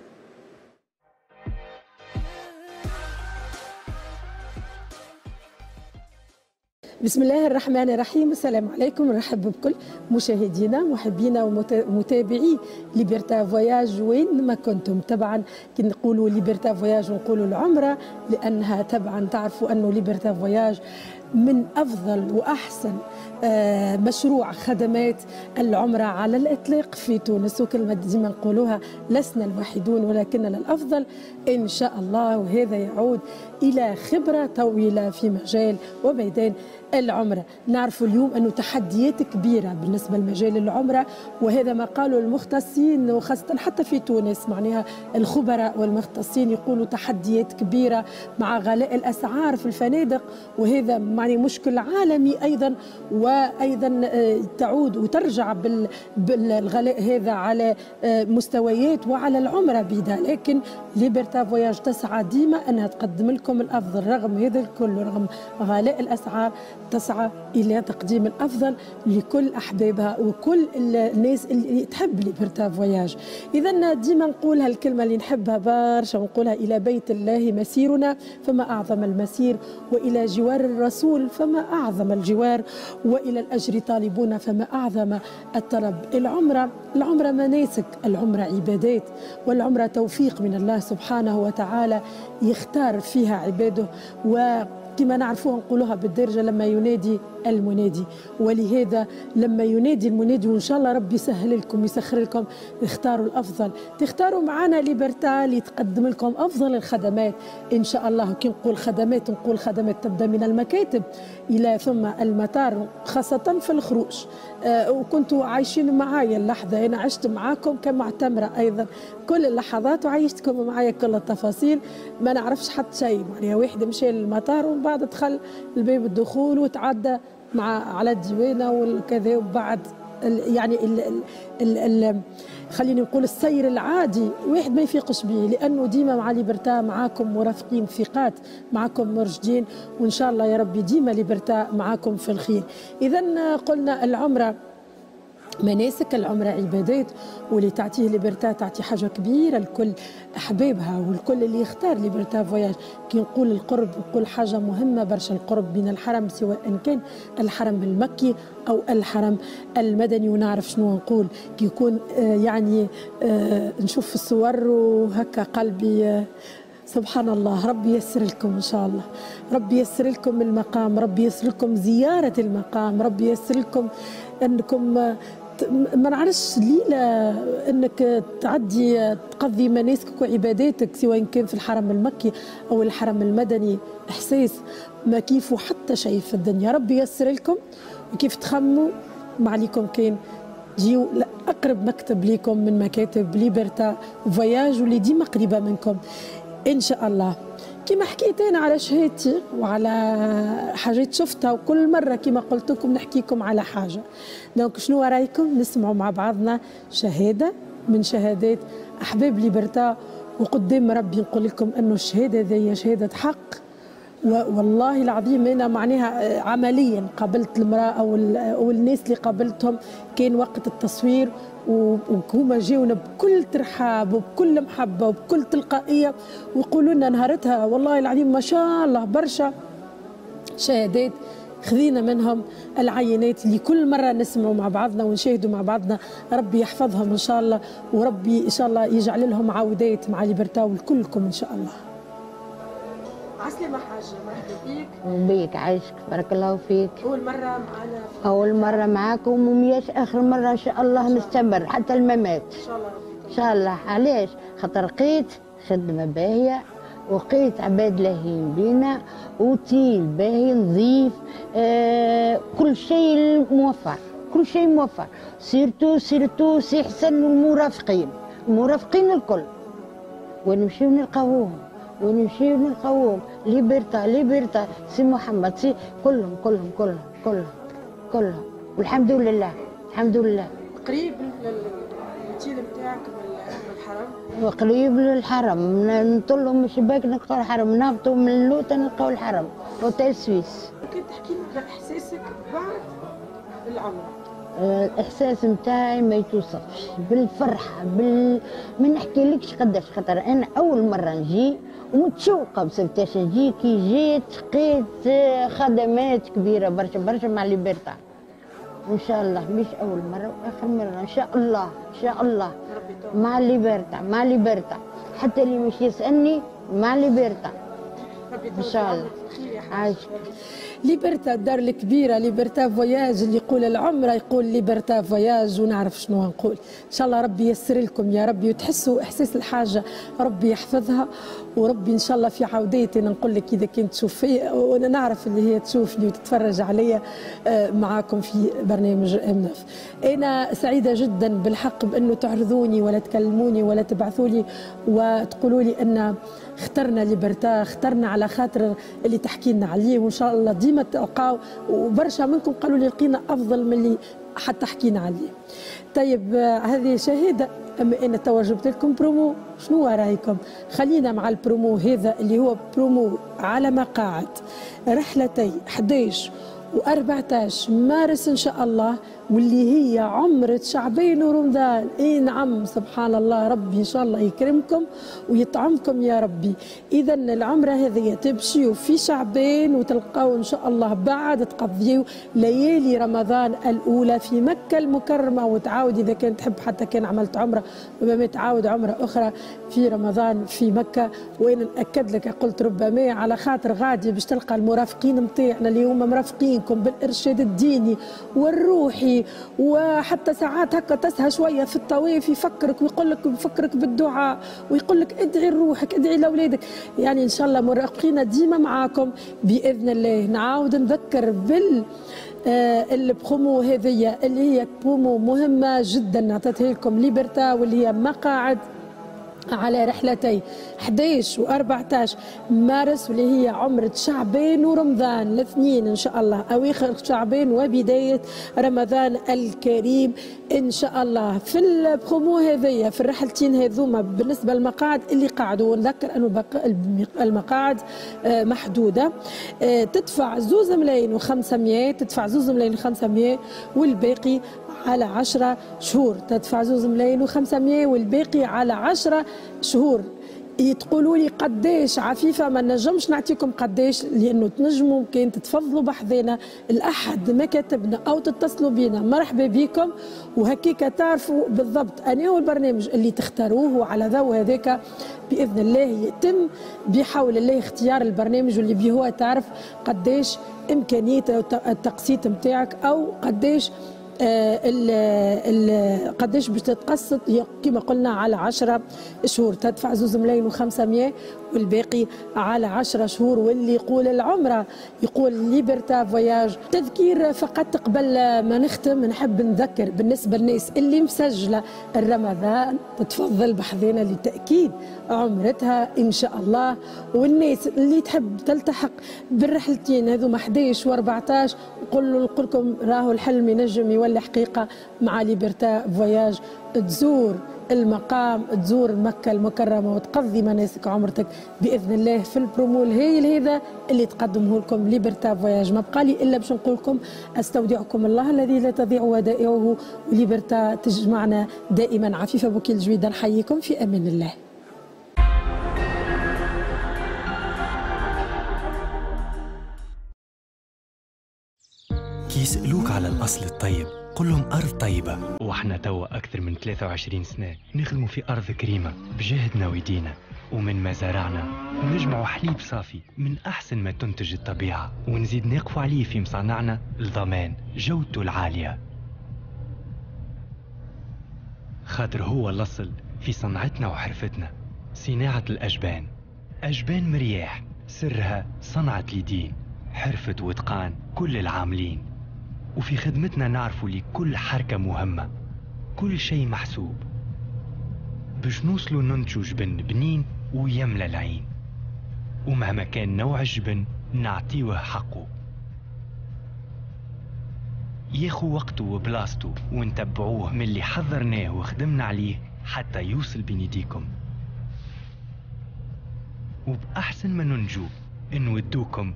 بسم الله الرحمن الرحيم. السلام عليكم، نرحب بكل مشاهدينا محبينا ومتابعي Liberté Voyage وين ما كنتم. طبعا كي نقولوا Liberté Voyage ونقولوا العمرة، لانها طبعا تعرفوا انه Liberté Voyage من افضل واحسن مشروع خدمات العمرة على الاطلاق في تونس، وكلمه ديما نقولوها لسنا الوحيدون ولكننا الافضل ان شاء الله، وهذا يعود الى خبره طويلة في مجال وميدان العمرة. نعرف اليوم انه تحديات كبيرة بالنسبة لمجال العمرة، وهذا ما قالوا المختصين وخاصة حتى في تونس، معناها الخبراء والمختصين يقولوا تحديات كبيرة مع غلاء الاسعار في الفنادق، وهذا معني مشكل عالمي ايضا، وايضا تعود وترجع بالغلاء هذا على مستويات وعلى العمرة بيدها. لكن Liberté Voyage تسعى ديما انها تقدم لكم الافضل رغم هذا الكل، رغم غلاء الاسعار تسعى الى تقديم الافضل لكل احبابها وكل الناس اللي تحب Liberté Voyage. اذا ديما نقول هالكلمة اللي نحبها برشا ونقولها: الى بيت الله مسيرنا فما اعظم المسير، والى جوار الرسول فما اعظم الجوار، والى الاجر طالبون فما اعظم الطلب. العمرة العمرة مناسك، العمرة عبادات، والعمرة توفيق من الله سبحانه وتعالى يختار فيها عباده، و كما نعرفوها نقولوها بالدارجة لما ينادي المنادي. ولهذا لما ينادي المنادي، وان شاء الله ربي يسهل لكم يسخر لكم، اختاروا الافضل، تختاروا معنا Liberté اللي تقدم لكم افضل الخدمات ان شاء الله. كي نقول خدمات نقول خدمات تبدا من المكاتب الى ثم المطار، خاصة في الخروج. أه وكنتوا عايشين معايا اللحظة، انا عشت معاكم كمعتمره ايضا كل اللحظات، وعيشتكم معايا كل التفاصيل. ما نعرفش حتى شيء، معناها واحد مشى للمطار ومن بعد دخل الباب الدخول وتعدى مع على الديوانه والكذا، وبعد ال يعني ال ال ال ال خليني نقول السير العادي واحد ما يفيقش به، لانه ديما مع Liberté معاكم مرافقين ثقات، معاكم مرشدين، وان شاء الله يا ربي ديما Liberté معاكم في الخير. اذا قلنا العمرة مناسك، العمرة عبادات، واللي تعطيه Liberté تعطي حاجة كبيرة لكل أحبابها والكل اللي يختار Liberté Voyage. كي نقول القرب نقول حاجة مهمة برشا، القرب من الحرم سواء كان الحرم المكي أو الحرم المدني. ونعرف شنو نقول كي يكون آه يعني آه نشوف في الصور وهكا قلبي آه سبحان الله. ربي يسر لكم إن شاء الله، ربي يسر لكم المقام، ربي يسر لكم زيارة المقام، ربي يسر لكم أنكم ما نعرفش ليلة انك تعدي تقضي مناسكك وعباداتك سواء كان في الحرم المكي او الحرم المدني، احساس ما كيفه حتى شيء في الدنيا. ربي ييسر لكم وكيف تخموا ما عليكم كان جيو لأقرب مكتب ليكم من مكاتب ليبرتا فواياج واللي ديما قريبة منكم إن شاء الله. كما حكيت أنا على شهادتي وعلى حاجات شفتها، وكل مرة كما قلت لكم نحكيكم على حاجة. donc شنو رايكم نسمعوا مع بعضنا شهادة من شهادات أحباب ليبرتا، وقدام ربي نقول لكم أنه الشهادة ذي شهادة حق، والله العظيم انا معناها عمليا قابلت المراة او او الناس اللي قابلتهم كان وقت التصوير، وهما جاونا بكل ترحاب وبكل محبة وبكل تلقائية ويقولوا لنا نهارتها والله العظيم ما شاء الله برشا شهادات خذينا منهم العينات اللي كل مرة نسمعوا مع بعضنا ونشاهدوا مع بعضنا. ربي يحفظهم ان شاء الله، وربي ان شاء الله يجعل لهم عودات مع ليبرتا ولكلكم ان شاء الله. عسلامة حاجة، مرحبا بيك. بيك عايشك، بارك الله فيك. أول مرة معنا؟ أول مرة معاكم ومياش آخر مرة إن شاء الله، نستمر حتى الممات إن شاء الله. ربي إن شاء الله. علاش؟ خاطر لقيت خدمة باهية وقيت عباد لاهين بينا، أوتيل باهي نظيف، آه كل شيء موفر، كل شيء موفر، surtout surtout سي حسن والمرافقين، المرافقين الكل ونمشيو نلقاوهم ونمشيو نلقاوهم، ليبرتا ليبرتا سي محمد سي كلهم كلهم كلهم كلهم كلهم، والحمد لله الحمد لله. قريب الاوتيل نتاعك من الحرم؟ قريب للحرم، نطلوا من الشباك نلقاو الحرم، نهبطوا من اللوطه نلقاو الحرم، hôtel Suisse. ممكن تحكي لنا على احساسك بعد العمرة؟ الاحساس نتاعي ما يتوصفش بالفرحه، بال ما نحكيلكش قداش، خاطر انا اول مرة نجي ومتشوقه بسبتاش نجي. كي جيت لقيت خدمات كبيرة برشا برشا مع ليبرتا، وان شاء الله مش اول مرة واخر مرة ان شاء الله، ان شاء الله مع ليبرتا مع ليبرتا، حتى اللي مش يسالني مع ليبرتا ان شاء الله. عايشك. ليبرتا الدار الكبيرة، ليبرتا فواياج، اللي يقول العمرة يقول ليبرتا فواياج، ونعرف شنو نقول. ان شاء الله ربي ييسر لكم يا ربي وتحسوا احساس الحاجة، ربي يحفظها، وربي ان شاء الله في عودتي نقول لك اذا كنت تشوف فيا، وانا نعرف اللي هي تشوفني وتتفرج عليا معاكم في برنامج ام نف. انا سعيدة جدا بالحق بانه تعرضوني ولا تكلموني ولا تبعثوا لي وتقولوا لي ان اخترنا ليبرتا، اخترنا على خاطر اللي تحكي لنا عليه، وان شاء الله ديما تلقاو. وبرشا منكم قالوا لي لقينا افضل من اللي حتى حكينا عليه. طيب هذه شهادة، اما انا توا جبت لكم برومو، شنو رايكم؟ خلينا مع البرومو هذا اللي هو برومو على مقاعد رحلتي أحد عشر وأربعة عشر مارس إن شاء الله، واللي هي عمرة شعبان ورمضان. اي نعم، سبحان الله، ربي ان شاء الله يكرمكم ويطعمكم يا ربي. اذا العمرة هذه تمشيوا في شعبان وتلقاو ان شاء الله بعد تقضيوا ليالي رمضان الاولى في مكة المكرمة، وتعاود اذا كان تحب حتى كان عملت عمره ربما تعاود عمره اخرى في رمضان في مكة. وانا ناكد لك قلت ربما على خاطر غادي باش تلقى المرافقين نتاعنا اللي هما مرافقينكم بالارشاد الديني والروحي، وحتى ساعات هكا تسهى شوية في الطواف يفكرك ويقول لك، يفكرك بالدعاء ويقول لك ادعي لروحك ادعي لاولادك. يعني ان شاء الله مرافقين ديما معاكم باذن الله. نعاود نذكر بال آه البرومو هذه اللي هي برومو مهمة جدا عطتها لكم ليبرتا، واللي هي مقاعد على رحلتي أحد عشر وأربعة عشر مارس، واللي هي عمرة شعبان ورمضان الاثنين إن شاء الله، أواخر شعبان وبداية رمضان الكريم إن شاء الله. في البرومو هذيا في الرحلتين هذوما بالنسبة للمقاعد اللي قعدوا، ونذكر أنه المقاعد آه، محدودة، آه، تدفع زوز ملايين وخمسمية، تدفع زوز ملايين وخمسمية والباقي على عشرة شهور، تدفع زوز ملايين وخمسمية والباقي على عشرة شهور. تقولوا لي قداش عفيفة؟ ما نجمش نعطيكم قداش، لانه تنجموا ممكن تتفضلوا بحذنا الاحد مكاتبنا او تتصلوا بينا، مرحبا بكم، وهكيك تعرفوا بالضبط انا هو البرنامج اللي تختاروه، وعلى ضوء هذاك باذن الله يتم بحول الله اختيار البرنامج واللي به هو تعرف قداش امكانية التقسيط نتاعك او قداش آه ال ال قداش باش تتقسط؟ كما قلنا على عشرة شهور، تدفع زوز ملايين وخمسمية والباقي على عشرة شهور. واللي يقول العمرة يقول Liberta Voyages. تذكير فقط قبل ما نختم، نحب نذكر بالنسبة للناس اللي مسجله الرمضان تتفضل بحذينا لتاكيد عمرتها ان شاء الله، والناس اللي تحب تلتحق بالرحلتين هذوما احداش وأربعطاش نقول نقول لكم راهو الحلم ينجم يولي حقيقة مع Liberta Voyages. تزور المقام، تزور مكة المكرمة وتقضي مناسك عمرتك بإذن الله في البرومو الهايل هذا اللي تقدمه لكم Liberta Voyages. ما بقى لي إلا باش نقول لكم أستودعكم الله الذي لا تضيع ودائعه، و Liberta تجمعنا دائما. عفيفة بوكيل جويدة نحييكم في أمان الله. كي يسألوك على الأصل الطيب قل لهم أرض طيبة، وإحنا توا أكثر من ثلاثة وعشرين سنة نخدموا في أرض كريمة بجهدنا ويدينا، ومن ما زرعنا نجمعوا حليب صافي من أحسن ما تنتج الطبيعة، ونزيد نقفوا عليه في مصانعنا لضمان جودته العالية، خاطر هو الأصل في صنعتنا وحرفتنا. صناعة الأجبان، أجبان مرياح سرها صنعة اليدين، حرفة وإتقان كل العاملين، وفي خدمتنا نعرفوا لكل حركة مهمة، كل شيء محسوب باش نوصلوا ننتجوا جبن بنين ويملى العين، ومهما كان نوع الجبن نعطيوه حقه، ياخو وقته وبلاصته ونتبعوه من اللي حضرناه وخدمنا عليه حتى يوصل بين يديكم، وبأحسن ما ننجو نودوكم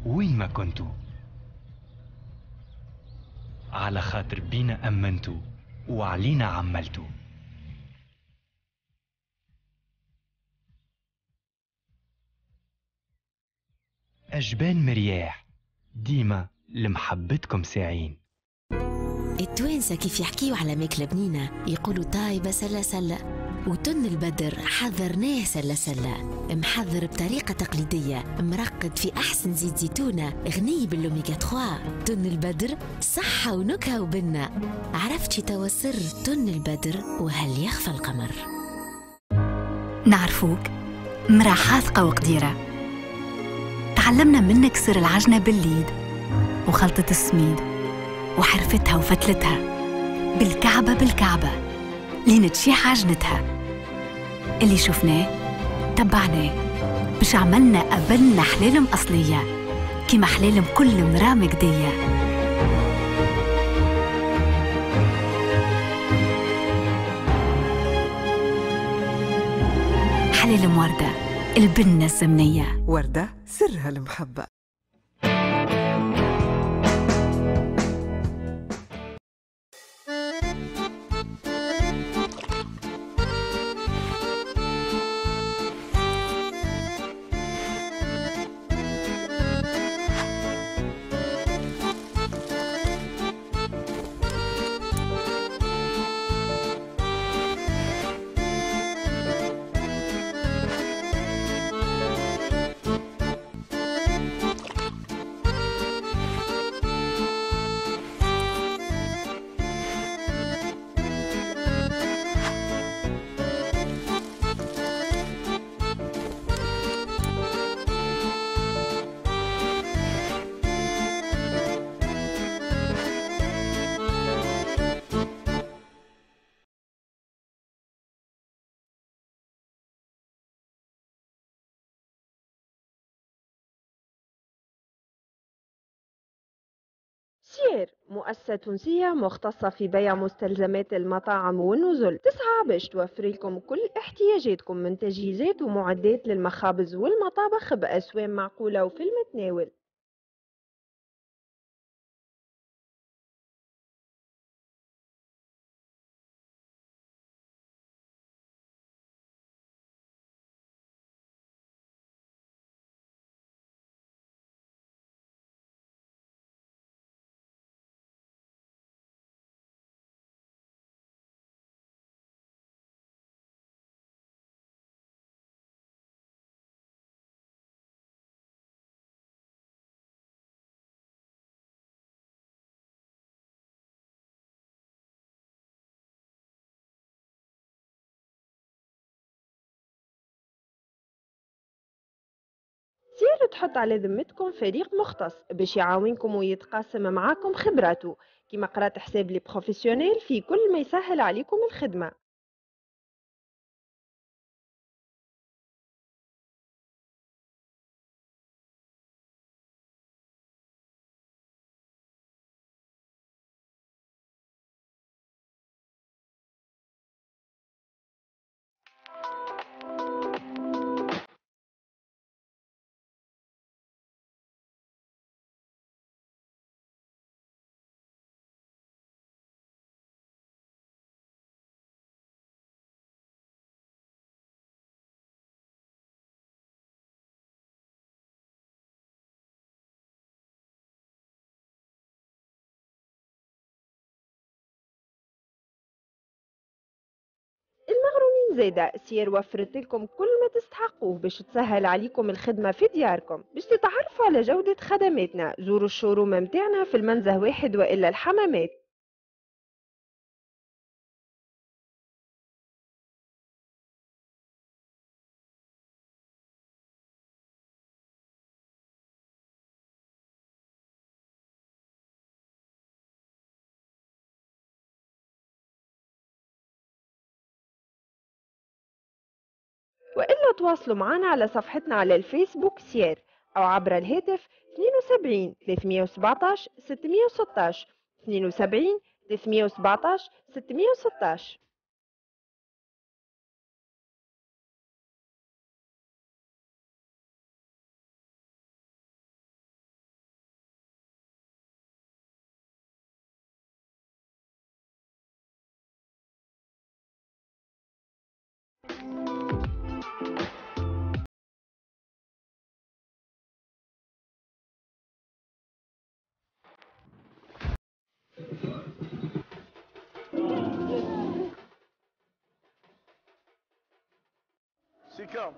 وين ما كنتوا، على خاطر بينا أمنتوا وعلينا عملتوا. أجبان مرياح ديما لمحبتكم ساعين. التوانسة كيف يحكيوا على ماكلة بنينة يقولوا طايبة سلة سلة، وتن البدر حضرناه سلة سلة، محضر بطريقة تقليدية، مرقد في أحسن زيت زيتونة، غني بالأوميغا ثلاثة. تن البدر صحة ونكهة وبنة. عرفتي توا سر تن البدر وهل يخفى القمر؟ نعرفوك مرا حاذقة وقديرة، تعلمنا منك سر العجنة بالليد وخلطة السميد وحرفتها وفتلتها بالكعبة بالكعبة لين تشيح عجنتها. اللي شفناه تبعناه باش عملنا قبلنا حلالم أصلية كيما حلالم كل مرا مجدية. حلالم وردة، البنة الزمنية. وردة سرها المحبة. سير مؤسسة تونسية مختصة في بيع مستلزمات المطاعم والنزل، تسعى باش توفر لكم كل احتياجاتكم من تجهيزات ومعدات للمخابز والمطابخ بأسوام معقولة وفي المتناول. سير تحط على ذمتكم فريق مختص باش يعاونكم ويتقاسم معاكم خبراته، كما قرات حساب les professionnels في كل ما يسهل عليكم الخدمة. المغرومين زايدة سير وفرت لكم كل ما تستحقوه باش تسهل عليكم الخدمة في دياركم. باش تتعرفوا على جودة خدماتنا زوروا ال showroom متاعنا في المنزه واحد وإلا الحمامات. وإلا تواصلوا معنا على صفحتنا على الفيسبوك سير أو عبر الهاتف اثنين وسبعين ثلاثمية وسبعطاش ستمية وستاش اثنين وسبعين ثلاثمية وسبعطاش ستمية وستاش. سيكام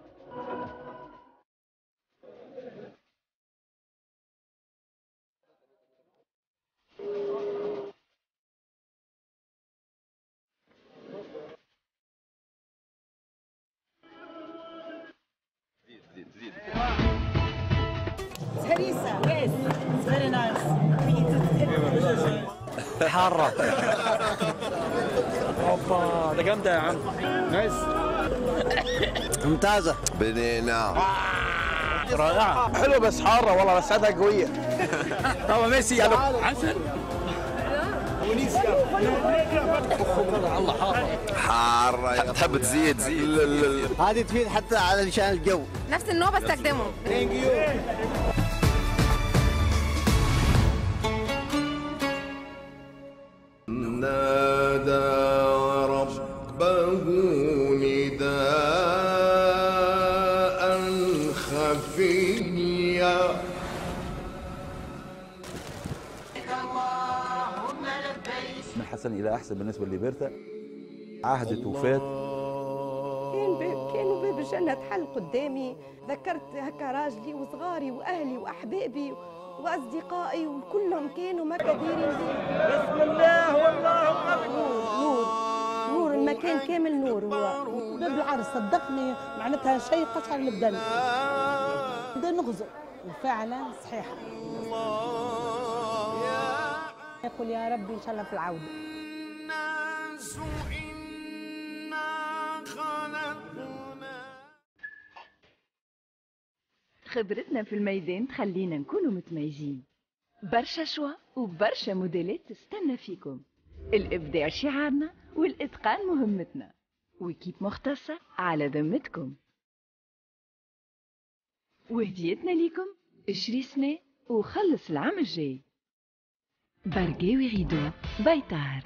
زيد زيد هريسة. Yes, it's very nice. We eat it. حارة. اوبا ده جامدة يا عم. nice. ممتازة. بنينة. رائعة. حلوة بس حارة والله، بس عادها قوية. طبعا ميسي يعني عسل. الله حارة. حارة تحب تزيد زيد. هذه تفيد حتى علشان الجو. نفس النوع بستخدمه. thank you. نادى ربه نداء خفيا. من حسن إلى أحسن بالنسبة لليبرتا. عهد وفات. كان باب كانوا باب الجنة تحل قدامي، ذكرت هكا راجلي وصغاري وأهلي وأحبابي وأصدقائي وكلهم كانوا ما كديرين بي. بسم الله والله أكبر. نور نور المكان كامل نور. هو باب العرس صدقني معناتها شيء قشعر البدن. بدا نغزو وفعلا صحيحة. يقول يا ربي إن شاء الله في العودة. الناس إنا خلقنا. خبرتنا في الميدان تخلينا نكونوا متميزين. برشا choix وبرشا موديلات تستنى فيكم. الإبداع شعارنا والإتقان مهمتنا، و équipe مختصة على ذمتكم. وهديتنا ليكم اشري سنة وخلص العام الجاي. برقاوي غيدو بيطار.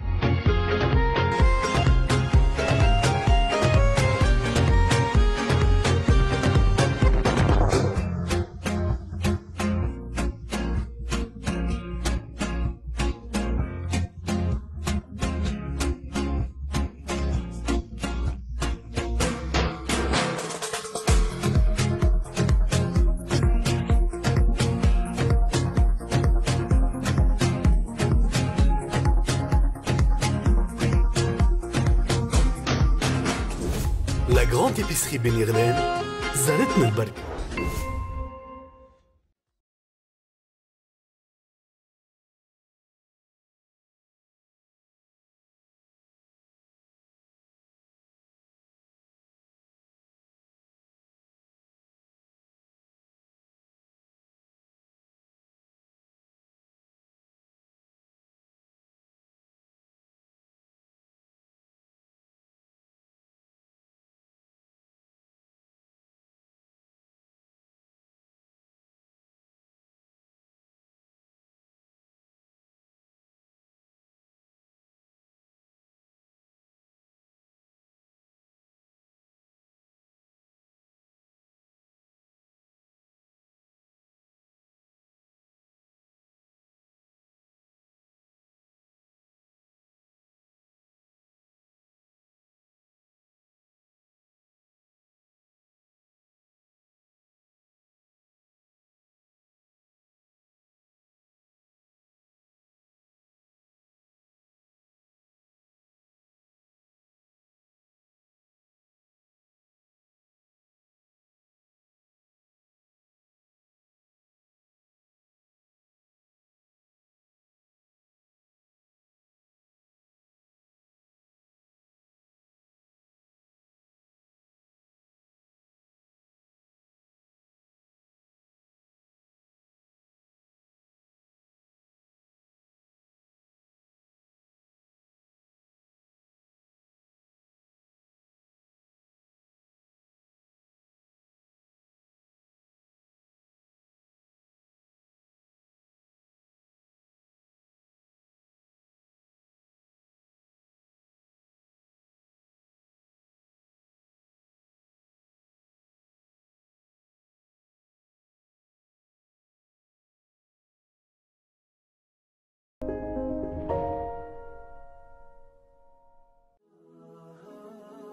La grande épicerie بن يغلان زارتنا البركة.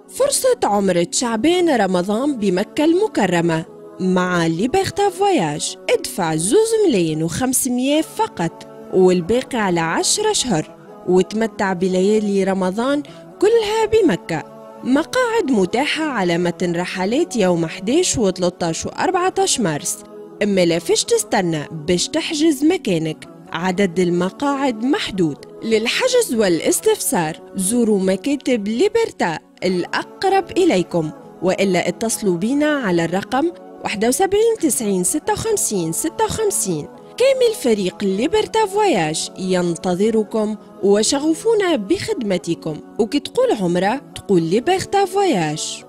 فرصة عمرة شعبان رمضان بمكة المكرمة مع Liberta Voyages. ادفع زوز ملايين وخمسمية فقط والباقي على عشرة أشهر، وتمتع بليالي رمضان كلها بمكة. مقاعد متاحة على متن رحلات يوم أحد عشر وثلاثة عشر وأربعة عشر مارس. اما لا فيش تستنى باش تحجز مكانك، عدد المقاعد محدود. للحجز والاستفسار زوروا مكاتب Liberta الأقرب إليكم، وإلا اتصلوا بنا على الرقم واحد وسبعين تسعين ستة وخمسين ستة وخمسين. كامل فريق Liberta Voyages ينتظركم وشغوفون بخدمتكم، وكي تقول عمرة تقول Liberta Voyages.